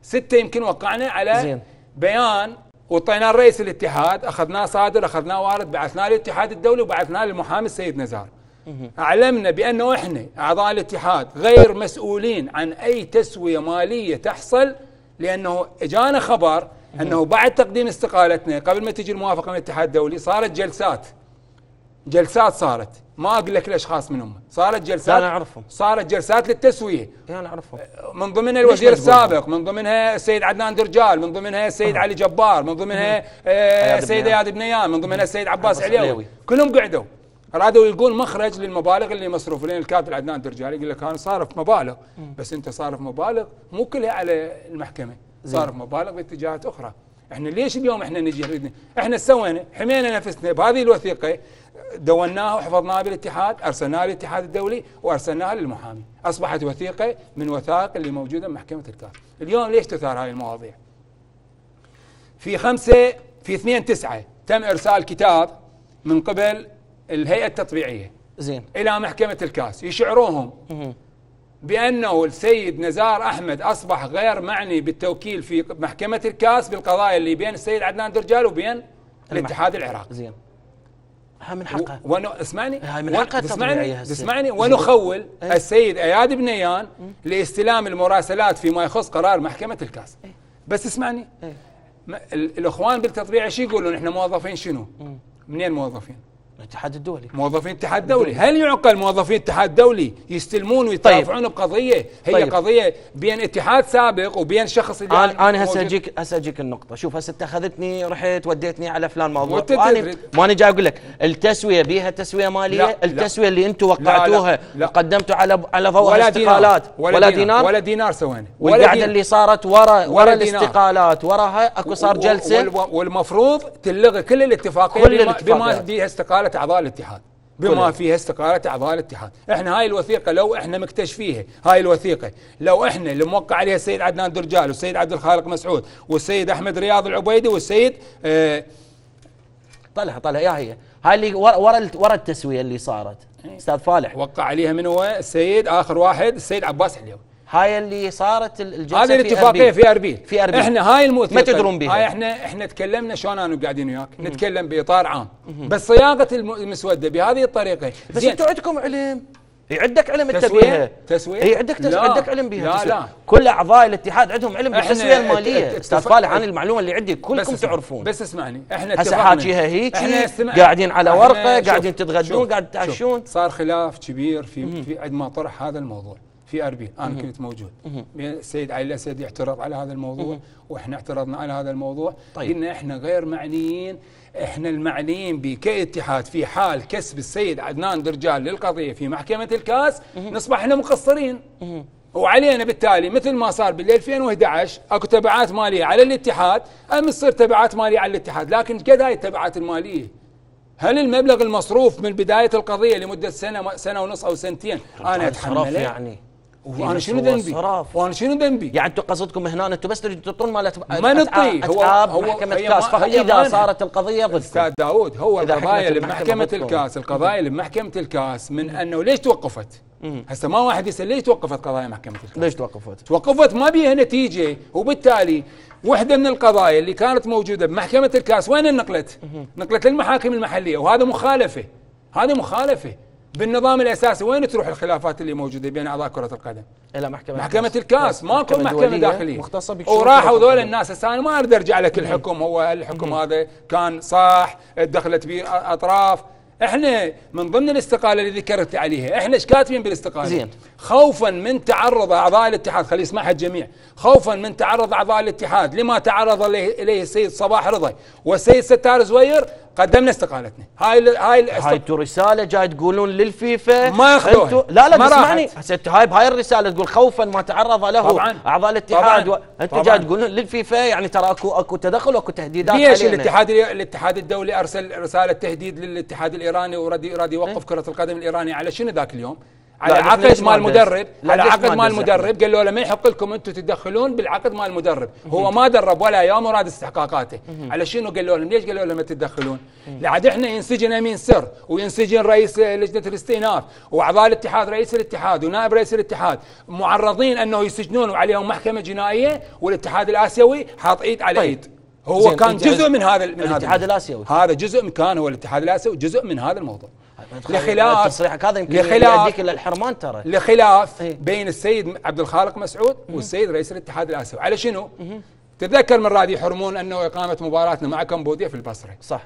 6 يمكن وقعنا على بيان وطيناه رئيس الاتحاد، اخذناه صادر، اخذناه وارد، بعثناه للاتحاد الدولي وبعثناه للمحامي السيد نزار. أعلمنا بأنه إحنا أعضاء الاتحاد غير مسؤولين عن أي تسوية مالية تحصل، لأنه إجانا خبر أنه بعد تقديم استقالتنا قبل ما تجي الموافقة من الاتحاد الدولي صارت جلسات صارت، ما أقول لك الأشخاص منهم، صارت جلسات. أنا أعرفهم. صارت جلسات للتسوية. أنا أعرفهم. من ضمنها الوزير السابق، من ضمنها السيد عدنان درجال، من ضمنها السيد علي جبار، من ضمنها السيد اياد بنيان، من ضمنها السيد عباس عليوي، كلهم قعدوا. أرادوا يلقون مخرج للمبالغ اللي مصروف. لين الكاتب عدنان درجالي يقول لك أنا صارف مبالغ، بس أنت صارف مبالغ مو كلها على المحكمة، صارف مبالغ باتجاهات أخرى. إحنا ليش اليوم إحنا نجي نريد؟ إحنا سوينا حمينا نفسنا بهذه الوثيقة، دوناها وحفظناها بالاتحاد، أرسلناها للاتحاد الدولي وأرسلناها للمحامي، أصبحت وثيقة من وثائق اللي موجودة بمحكمة الكاس. اليوم ليش تثار هاي المواضيع؟ في 2/9 تم إرسال كتاب من قبل الهيئة التطبيعية إلى محكمة الكاس يشعروهم بأنه السيد نزار أحمد أصبح غير معني بالتوكيل في محكمة الكاس بالقضايا اللي بين السيد عدنان درجال وبين الاتحاد العراقي. زين. ها من حقه. اسمعني. هاي من حقه التطبيعية. اسمعني. ونخول السيد اياد بنيان لاستلام المراسلات فيما يخص قرار محكمة الكاس. بس اسمعني. الإخوان بالتطبيع شو يقولون؟ احنا موظفين شنو؟ منين موظفين؟ الاتحاد الدولي. موظفين الاتحاد الدولي. هل يعقل موظفين الاتحاد الدولي يستلمون ويترافعون بقضيه هي قضيه بين اتحاد سابق وبين شخص اللي انا هسه اجيك النقطه. شوف هسه اتخذتني رحت وديتني على فلان موضوع ما انا جاي اقول لك التسويه بيها تسويه ماليه. لا التسويه اللي انتم وقعتوها وقدمتوا على ضوء الاستقالات ولا دينار سوينا. والقعده اللي صارت ورا الاستقالات وراها اكو صار جلسه والمفروض تلغي كل الاتفاقيه بما فيها استقاله اعضاء الاتحاد، بما فيها استقالة اعضاء الاتحاد. احنا هاي الوثيقة لو احنا مكتشفيها، هاي الوثيقة لو احنا اللي موقع عليها السيد عدنان درجال والسيد عبد الخالق مسعود والسيد احمد رياض العبيدي والسيد طلع يا هي هاي اللي ورا التسوية اللي صارت استاذ فالح وقع عليها من هو؟ السيد اخر واحد السيد عباس عليوي. هاي اللي صارت الجلسه هذه الاتفاقيه في اربيل. احنا هاي الموثيقه ما تدرون بها. هاي احنا تكلمنا شلون انا قاعدين وياك نتكلم باطار عام، بس صياغه المسوده بهذه الطريقه. بس انتم عندكم علم، عندك علم انت بيها تسويه؟ اي عندك علم بيها. لا كل اعضاء الاتحاد عندهم علم بالتسويه الماليه. استاذ فالح انا المعلومه اللي عندي كلكم تعرفون. بس اسمعني احنا هسه حاكيها هيك قاعدين على ورقه قاعدين تتغدون قاعد تعشون. صار خلاف كبير في عندما طرح هذا الموضوع في اربيل. انا كنت موجود. السيد علي الاسد يعترض على هذا الموضوع واحنا اعترضنا على هذا الموضوع. قلنا احنا غير معنيين، احنا المعنيين كاتحاد في حال كسب السيد عدنان درجال للقضيه في محكمه الكاس نصبح احنا مقصرين وعلينا بالتالي مثل ما صار بال 2011 اكو تبعات ماليه على الاتحاد تصير تبعات ماليه على الاتحاد. لكن قد هاي التبعات الماليه؟ هل المبلغ المصروف من بدايه القضيه لمده سنه ونص او سنتين انا اتحمله؟ يعني وانا شنو ذنبي؟ وانا شنو ذنبي؟ يعني انتم قصدكم هنا انتم بس تريدون تعطون مال ما نعطي هو محكمه كاس فقط اذا صارت القضيه ضدكم. استاذ داوود، هو القضايا اللي بمحكمه الكاس، القضايا اللي بمحكمه الكاس من انه ليش توقفت؟ هسه ما واحد يسال ليش توقفت قضايا محكمه الكاس؟ ليش توقفت؟ توقفت ما بيها نتيجه، وبالتالي وحده من القضايا اللي كانت موجوده بمحكمه الكاس وين نقلت؟ نقلت للمحاكم المحليه، وهذا مخالفه، هذا مخالفه بالنظام الاساسي. وين تروح الخلافات اللي موجوده بين اعضاء كره القدم؟ الى محكمه الكاس، ماكو محكمه داخليه وراحوا ذول الناس. هسه انا ما اقدر ارجع لك الحكم، هو الحكم هذا كان صح، دخلت به اطراف. احنا من ضمن الاستقاله اللي ذكرت عليها، احنا ايش كاتبين بالاستقاله؟ زين. خوفا من تعرض اعضاء الاتحاد، خلي يسمعها الجميع، خوفا من تعرض اعضاء الاتحاد لما تعرض اليه السيد صباح رضا والسيد ستار زوير، قدمنا استقالتنا. هاي انتم رساله جاي تقولون للفيفا ما ياخذوها. لا تسمعني هسه، هاي الرساله تقول خوفا ما تعرض له طبعاً اعضاء الاتحاد انت جاي تقولون للفيفا، يعني ترى اكو تدخل واكو تهديدات. ليش الاتحاد الدولي ارسل رساله تهديد للاتحاد الايراني وراد يوقف كره القدم الايرانيه على شنو ذاك اليوم؟ على عقد مال المدرب، على عقد مال المدرب. قال له ما يحق لكم انتم تتدخلون بالعقد مال المدرب، هو ما درب ولا يوم وراد استحقاقاته. على شنو قالوا لهم؟ ليش قالوا لهم ما تتدخلون؟ لعد احنا ينسجن امين سر، وينسجن رئيس لجنه الاستئناف، واعضاء الاتحاد، رئيس الاتحاد ونائب رئيس الاتحاد معرضين انه يسجنون وعليهم محكمه جنائيه، والاتحاد الاسيوي حاط ايد على ايد. هو كان جزء من هذا الاتحاد الاسيوي، هذا جزء كان هو الاتحاد الاسيوي جزء من هذا الموضوع. لخلاف تصريحك هذا يمكن يؤديك الى الحرمان ترى. لخلاف بين السيد عبد الخالق مسعود والسيد رئيس الاتحاد الاسيوي. على شنو؟ تتذكر من راد يحرمون انه اقامه مباراتنا مع كمبوديا في البصره. صح.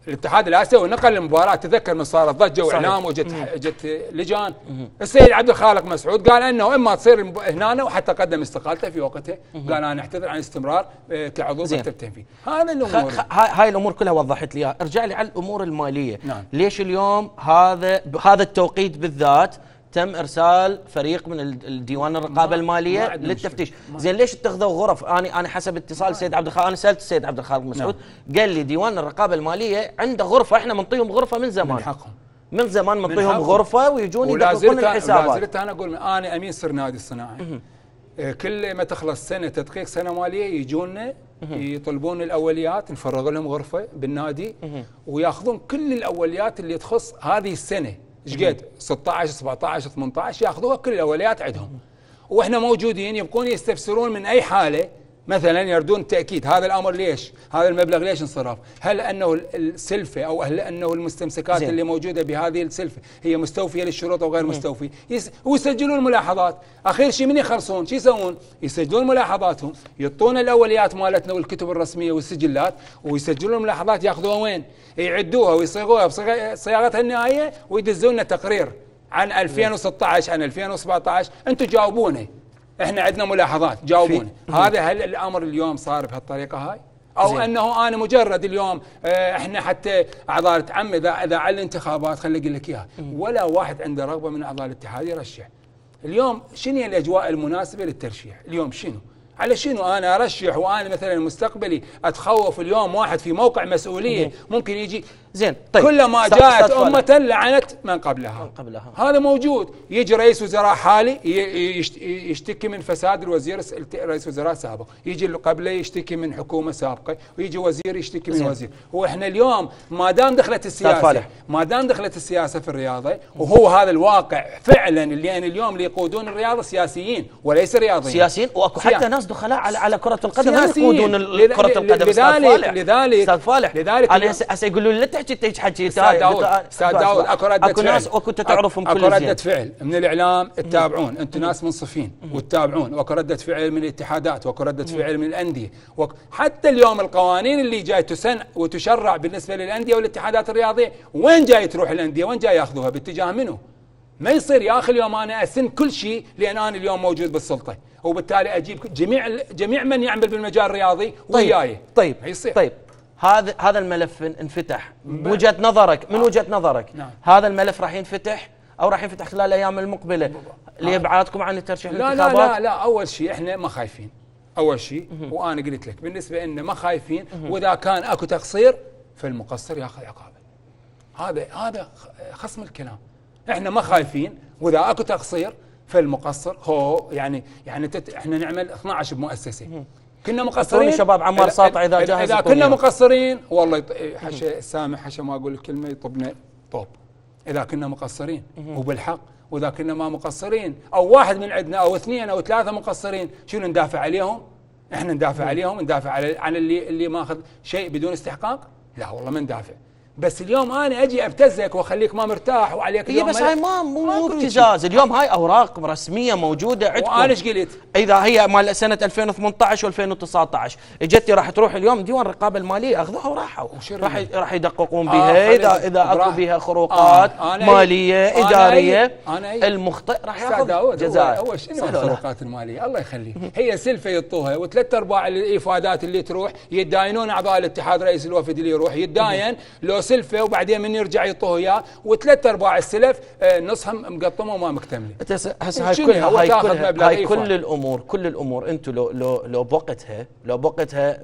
الاتحاد الاسيوي نقل المباراه، تذكر من صارت ضجه واعلام وجت لجان. السيد عبد الخالق مسعود قال انه اما تصير هنا، وحتى قدم استقالته في وقتها، قال انا اعتذر عن استمرار كعضو مكتب تنفيذي. هذا الامور، هاي الامور كلها وضحت لي. ارجع لي على الامور الماليه. نعم. ليش اليوم هذا التوقيت بالذات تم ارسال فريق من الديوان الرقابه الماليه للتفتيش؟ زين ليش اتخذوا غرف؟ انا حسب اتصال السيد عبد الخالق، انا سالت السيد عبد الخالق مسعود، قال لي ديوان الرقابه الماليه عنده غرفه، احنا منطيهم غرفه من زمان، من حقهم، من زمان منطيهم غرفه ويجون يدققون الحسابات. ولا زلت انا اقول انا امين سر نادي الصناعي، كل ما تخلص سنه تدقيق سنه ماليه يجونا يطلبون الاوليات، نفرغ لهم غرفه بالنادي وياخذون كل الاوليات اللي تخص هذه السنه. ايش قد 16 17 18 ياخذوها كل الاوليات عندهم، واحنا موجودين يبقون يستفسرون من اي حاله، مثلا يردون تاكيد هذا الامر ليش؟ هذا المبلغ ليش انصرف؟ هل انه السلفه او هل انه المستمسكات اللي موجوده بهذه السلفه هي مستوفيه للشروط او غير مستوفيه؟ ويسجلون ملاحظات. اخير شيء من يخلصون شو يسوون؟ يسجلون ملاحظاتهم، يعطون الاوليات مالتنا والكتب الرسميه والسجلات، ويسجلون الملاحظات ياخذوها وين؟ يعدوها ويصيغوها بصياغتها النهائيه ويدزون لنا تقرير عن 2016 عن 2017. انتم جاوبونا، احنا عندنا ملاحظات، جاوبونا. هذا هل الامر اليوم صار بهالطريقه هاي؟ او زين. انه انا مجرد اليوم احنا حتى اعضاء العم اذا على الانتخابات، خليني اقول لك اياها، ولا واحد عنده رغبه من اعضاء الاتحاد يرشح. اليوم شنو الاجواء المناسبه للترشيح؟ اليوم شنو؟ على شنو انا ارشح وانا مثلا مستقبلي اتخوف اليوم واحد في موقع مسؤوليه ممكن يجي زين؟ طيب كلما جاءت امه لعنت من قبلها. هذا موجود. يجي رئيس وزراء حالي يشتكي من فساد الوزير، رئيس وزراء سابق، يجي اللي قبله يشتكي من حكومه سابقه، ويجي وزير يشتكي من وزير. واحنا اليوم ما دام دخلت السياسه في الرياضه، وهو هذا الواقع فعلا اللي اليوم اللي يقودون الرياضه سياسيين وليس رياضيين. سياسيين، واكو حتى ناس دخلاء على كره القدم يقودون كره القدم. لذلك انا هسه يقولوا لي لا تحكي استاذ داود اكو ردة فعل، ناس وكنت تعرفهم كل اكو ردة فعل من الاعلام تتابعون، انتم ناس منصفين وتتابعون، واكو ردة فعل من الاتحادات، واكو ردة فعل من الانديه، حتى اليوم القوانين اللي جاي تسن وتشرع بالنسبه للانديه والاتحادات الرياضيه، وين جاي تروح الانديه؟ وين جاي ياخذوها؟ باتجاه منو؟ ما يصير يا اخي اليوم انا اسن كل شيء لان انا اليوم موجود بالسلطه، وبالتالي اجيب جميع من يعمل بالمجال الرياضي وياي. طيب هذا الملف انفتح بوجهة نظرك، من وجهة نظرك نعم. هذا الملف راح ينفتح او راح ينفتح خلال الايام المقبله لابعادكم عن الترشيح للانتخابات؟ لا اول شيء احنا ما خايفين، اول شيء وانا قلت لك بالنسبه لنا ما خايفين، واذا كان اكو تقصير فالمقصر ياخذ عقابه. هذا خصم الكلام. احنا ما خايفين، واذا اكو تقصير فالمقصر هو يعني احنا نعمل 12 بمؤسسه كنا أعطوني مقصرين. شباب عمار ساطع إذا جاهز اذا يكون كنا يوم. مقصرين والله حشا السامح حشا ما اقول الكلمه يطبنا طوب اذا كنا مقصرين وبالحق، واذا كنا ما مقصرين او واحد من عندنا او اثنين او ثلاثه مقصرين شنو ندافع عليهم؟ احنا ندافع عليهم، ندافع على اللي ماخذ شيء بدون استحقاق؟ لا والله ما ندافع. بس اليوم انا اجي ابتزك واخليك ما مرتاح وعليك هي بس هاي مو ابتزاز، اليوم هاي اوراق رسميه موجوده عندكم. وانا ايش قلت؟ اذا هي مال سنه 2018 و2019 اجتي راح تروح اليوم ديوان الرقابه الماليه اخذوها وراحوا، راح يدققون بها اذا اكو بها خروقات ماليه اداريه، المخطئ راح ياخذ جزاء. اول شنو الخروقات الماليه؟ الله يخليه، هي سلفه يعطوها وثلاث ارباع الايفادات اللي تروح يتداينون اعضاء الاتحاد، رئيس الوفد اللي يروح يتداين لو سلفه وبعدين من يرجع يعطوه اياه، وثلاث ارباع السلف نصها مقطمه وما مكتمله. هسه هاي كل الامور انتم لو بوقتها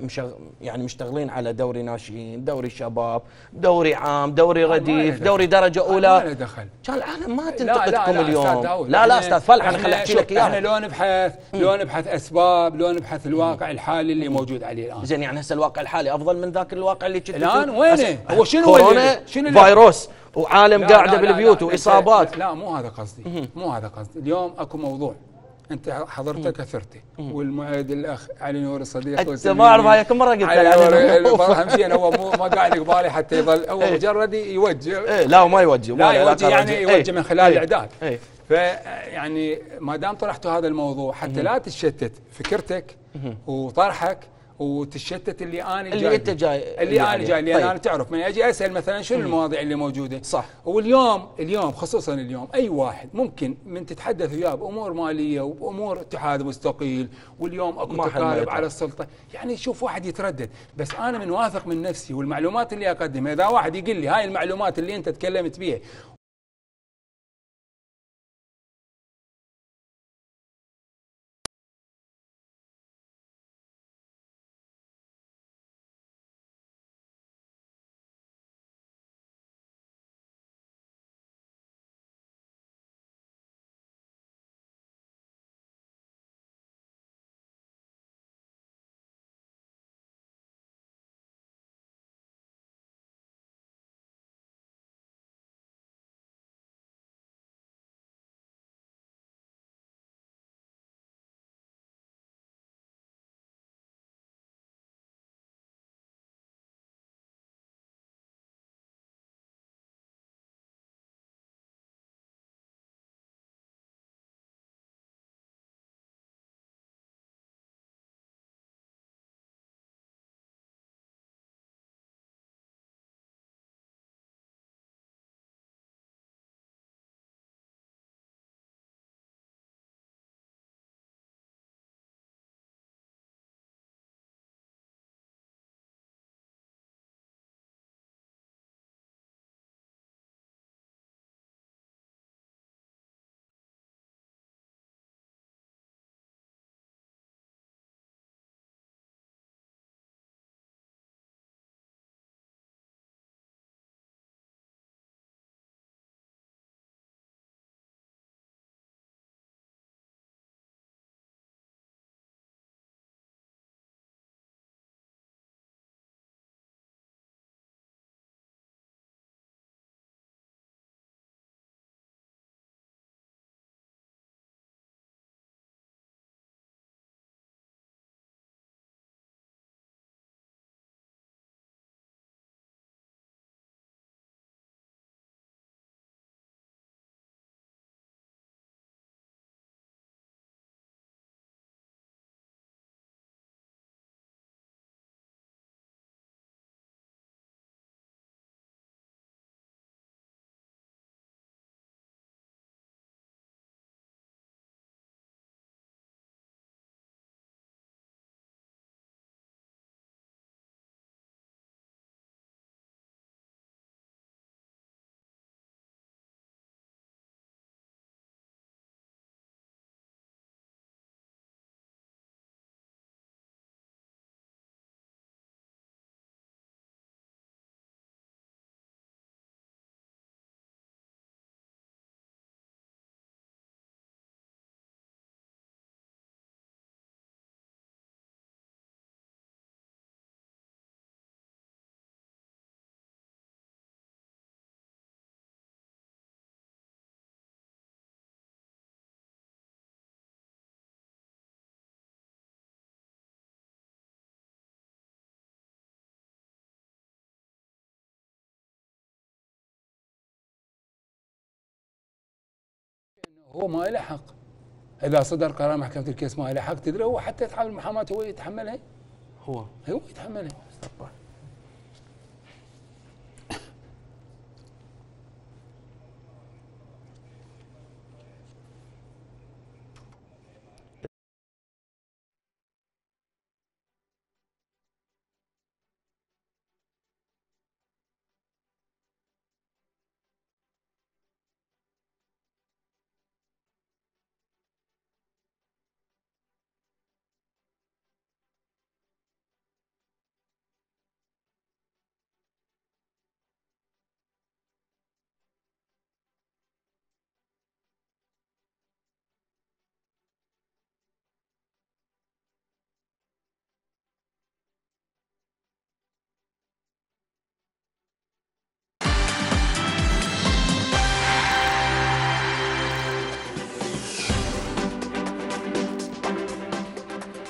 يعني مشتغلين على دوري ناشئين، دوري شباب، دوري عام، دوري رديف، دوري درجه اولى. ما له دخل. كان العالم ما تنتقدكم اليوم. لا استاذ فلح انا خليني احكي لك اياها. احنا لو نبحث اسباب، لو نبحث الواقع الحالي اللي موجود عليه الان. زين يعني هسه الواقع الحالي افضل من ذاك الواقع اللي كنت الان وينه؟ هو شنو كورونا فيروس وعالم قاعده بالبيوت واصابات. لا مو هذا قصدي، مو هذا قصدي. اليوم اكو موضوع انت حضرته كثرته، والمعيد الاخ علي نور الصديق انت ما اعرف هاي كم مره قلت له همشين هو ما قاعد قبالي حتى يظل هو مجرد يوجه. لا وما يوجه، لا يوجه يعني يوجه من خلال الاعداد. فيعني ما دام طرحتوا هذا الموضوع حتى لا تتشتت فكرتك وطرحك وتشتت اللي انا جاي لان انا تعرف من اجي اسال مثلا شنو المواضيع اللي موجوده صح. واليوم خصوصا اليوم اي واحد ممكن من تتحدث وياه بامور ماليه وبامور اتحاد مستقيل، واليوم اكو تقارب على السلطه، يعني شوف واحد يتردد. بس انا من واثق من نفسي والمعلومات اللي اقدمها، اذا واحد يقول لي هاي المعلومات اللي انت تكلمت بيها هو ما له حق. اذا صدر قرار محكمه الكيس ما له حق، تدري هو حتى يتحمل المحاماه هو يتحملها. هو يتحملها.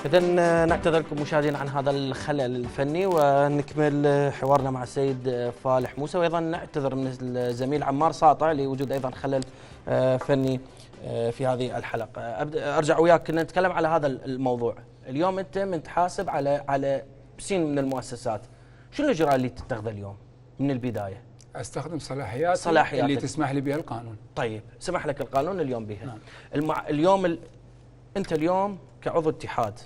إذن نعتذر لكم مشاهدينا عن هذا الخلل الفني، ونكمل حوارنا مع السيد فالح موسى، وأيضا نعتذر من الزميل عمار ساطع لوجود أيضا خلل فني في هذه الحلقة. أرجع وياك كنا نتكلم على هذا الموضوع. اليوم أنت متحاسب على سين من المؤسسات، شنو الإجراء اللي تتخذه اليوم من البداية؟ استخدم صلاحيات اللي تسمح لي بها القانون. طيب، سمح لك القانون اليوم بها. نعم. اليوم أنت اليوم كعضو اتحاد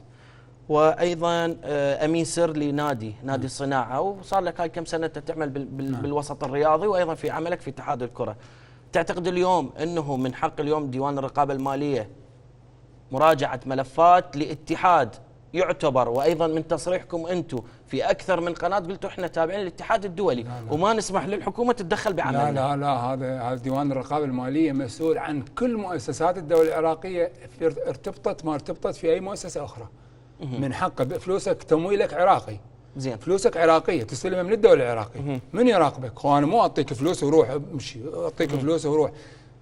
وايضا امين سر لنادي الصناعه، وصار لك هاي كم سنه تعمل بالوسط الرياضي وايضا في عملك في اتحاد الكره. تعتقد اليوم انه من حق اليوم ديوان الرقابه الماليه مراجعه ملفات لاتحاد يعتبر، وايضا من تصريحكم انتم في اكثر من قناه قلتوا احنا تابعين للاتحاد الدولي وما نسمح للحكومه تتدخل بعملنا؟ لا هذا ديوان الرقابه الماليه مسؤول عن كل مؤسسات الدوله العراقيه، ارتبطت ما ارتبطت في اي مؤسسه اخرى. من حقه فلوسك تمويلك عراقي، زين، فلوسك عراقيه تستلمها من الدوله العراقيه. من يراقبك؟ وانا مو اعطيك فلوس وروح امشي، اعطيك فلوس وروح.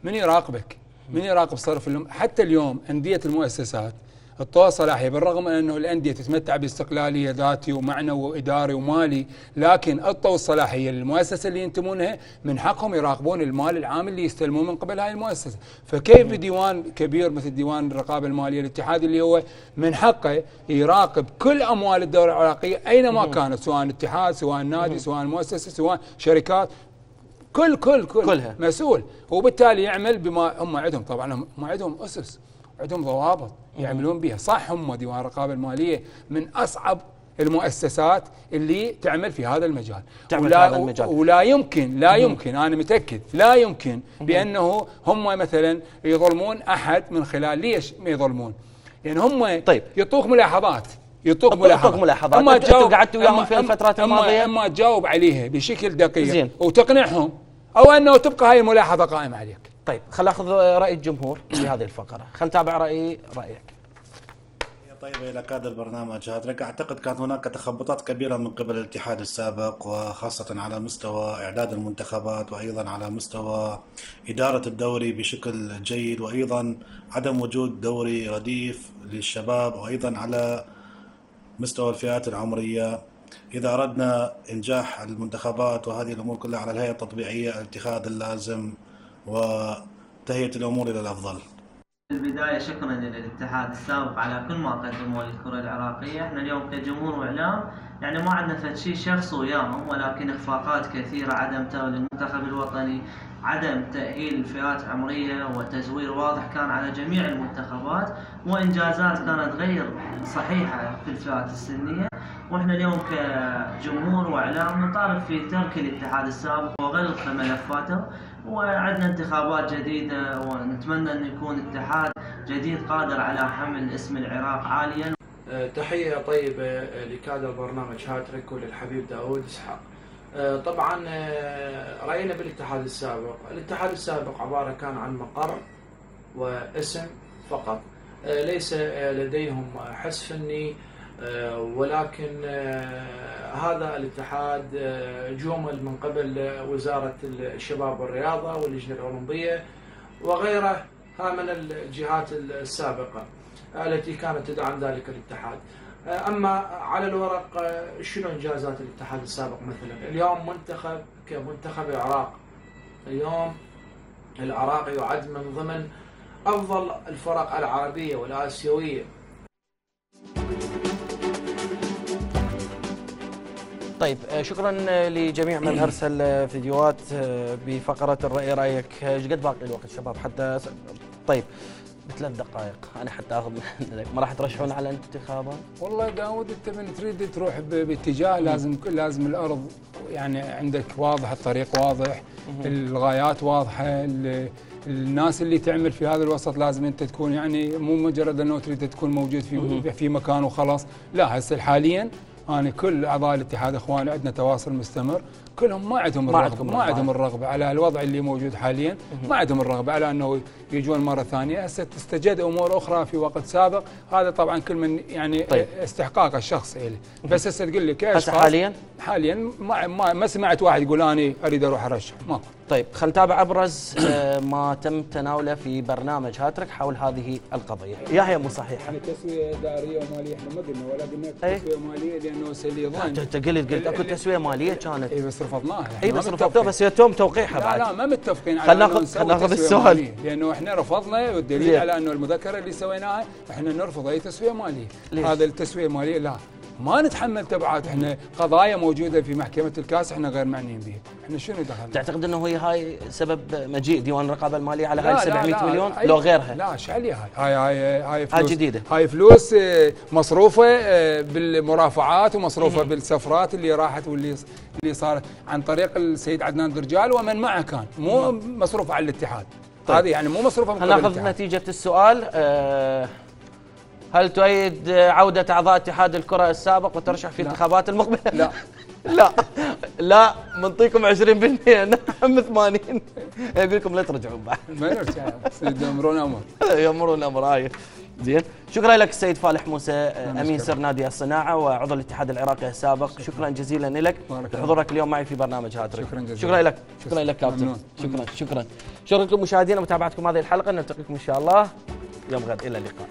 من يراقبك؟ من يراقب صرف حتى اليوم انديه المؤسسات الطوى صلاحيه، بالرغم من انه الانديه تتمتع باستقلاليه ذاتي ومعنوي واداري ومالي، لكن الطوى الصلاحيه للمؤسسه اللي ينتمونها من حقهم يراقبون المال العام اللي يستلموه من قبل هاي المؤسسه. فكيف ديوان كبير مثل ديوان الرقابه الماليه الاتحادي اللي هو من حقه يراقب كل اموال الدوله العراقيه اينما كانت، سواء اتحاد سواء نادي سواء مؤسسه سواء شركات، كلها مسؤول، وبالتالي يعمل بما هم عندهم. طبعا هم عندهم اسس، عندهم ضوابط يعملون بها. صح هم ديوان الرقابه الماليه من اصعب المؤسسات اللي تعمل في هذا المجال، ولا يمكن انا متاكد لا يمكن بانه هم مثلا يظلمون احد من خلال. ليش ما يظلمون؟ يعني هم يعطوك ملاحظات، انتوا قعدتوا وياهم في الفترات الماضيه، اما تجاوب عليها بشكل دقيق وتقنعهم، او انه تبقى هاي الملاحظه قائمه عليك. طيب، خل اخذ راي الجمهور في هذه الفقره، خل نتابع رايك. طيب، الى كادر برنامج هذا اعتقد كانت هناك تخبطات كبيره من قبل الاتحاد السابق، وخاصه على مستوى اعداد المنتخبات وايضا على مستوى اداره الدوري بشكل جيد، وايضا عدم وجود دوري رديف للشباب، وايضا على مستوى الفئات العمريه. إذا أردنا إنجاح المنتخبات وهذه الأمور كلها على الهيئة التطبيعية الاتخاذ اللازم وتهيئة الأمور إلى الأفضل. في البداية شكرا للاتحاد السابق على كل ما قدموا للكرة العراقية. احنا اليوم كجمهور وإعلام يعني ما عندنا فد شيء شخص وياهم، ولكن إخفاقات كثيرة، عدم تأهيل المنتخب الوطني، عدم تأهيل الفئات العمرية، وتزوير واضح كان على جميع المنتخبات، وإنجازات كانت غير صحيحة في الفئات السنية. واحنا اليوم كجمهور واعلام نطالب في ترك الاتحاد السابق وغلق ملفاته، وعندنا انتخابات جديده، ونتمنى ان يكون اتحاد جديد قادر على حمل اسم العراق عاليا. تحيه طيبه لكادر برنامج هاتريك وللحبيب داود اسحاق. طبعا راينا بالاتحاد السابق، الاتحاد السابق عباره كان عن مقر واسم فقط، ليس لديهم حس فني، ولكن هذا الاتحاد جومل من قبل وزارة الشباب والرياضة واللجنة الأولمبية وغيرها من الجهات السابقة التي كانت تدعم ذلك الاتحاد. أما على الورق شنو إنجازات الاتحاد السابق؟ مثلا اليوم منتخب كمنتخب العراق، اليوم العراق يعد من ضمن افضل الفرق العربيه والاسيويه. طيب شكرا لجميع من ارسل فيديوهات بفقره الراي رايك. ايش قد باقي الوقت شباب حتى طيب ب3 دقائق انا حتى اخذ ما راح ترشحون على الانتخابات؟ والله داود انت من تريد تروح باتجاه لازم الارض يعني عندك واضح، الطريق واضح، الغايات واضحه، الناس اللي تعمل في هذا الوسط لازم انت تكون يعني مو مجرد انه تريد تكون موجود في مكان وخلاص، لا هسه حاليا انا كل اعضاء الاتحاد اخواني عندنا تواصل مستمر، كلهم ما عندهم الرغبه على الوضع اللي موجود حاليا، ما عندهم الرغبه على انه يجون مره ثانيه، هسه تستجد امور اخرى في وقت سابق، هذا طبعا كل من يعني طيب. استحقاقه الشخصي له، بس هسه تقول لي كاشخاص حاليا ما سمعت واحد يقول انا اريد اروح ارشح، ماكو. طيب خلينا نتابع ابرز ما تم تناوله في برنامج هاتريك حول هذه القضيه. يحيى مو صحيح يعني تسويه اداريه وماليه احنا ما قلنا ولا قلنا تسويه ماليه لانه اللي يظن انت قلت اكو تسويه ماليه كانت اي بس رفضناها. اي بس رفضتوها بس يتم توقيعها بعد. لا ما متفقين على خلينا ناخذ السؤال لانه احنا رفضنا والدليل على انه المذكره اللي سويناها احنا نرفض اي تسويه ماليه. هذا التسويه الماليه لا ما نتحمل تبعات، احنا قضايا موجوده في محكمه الكاس احنا غير معنيين بها، احنا شنو دخلنا؟ تعتقد انه هي هاي سبب مجيء ديوان الرقابه الماليه على هاي 700 مليون لو غيرها؟ لا ايش عليها هاي فلوس جديده، هاي فلوس مصروفه بالمرافعات ومصروفه بالسفرات اللي راحت واللي صارت عن طريق السيد عدنان درجال ومن معه كان، مو مصروفه على الاتحاد. طيب. هذه يعني مو مصروفه من قبل الاتحاد. ناخذ نتيجه السؤال. هل تؤيد عودة أعضاء اتحاد الكرة السابق وترشح في الانتخابات المقبلة؟ لا لا منطيكم 20% نعم 80 يقول لكم لا ترجعون بعد. ما نرجع يمرون أمر. يمرون أمر هاي. زين شكرا لك السيد فالح موسى أمين سر نادي الصناعة وعضو الاتحاد العراقي السابق، شكرا جزيلا لك لحضورك اليوم معي في برنامج هاتريك. شكرا لك كابتن. شكرا لكم مشاهدينا ومتابعتكم هذه الحلقة، نلتقيكم إن شاء الله يوم غد، إلى اللقاء.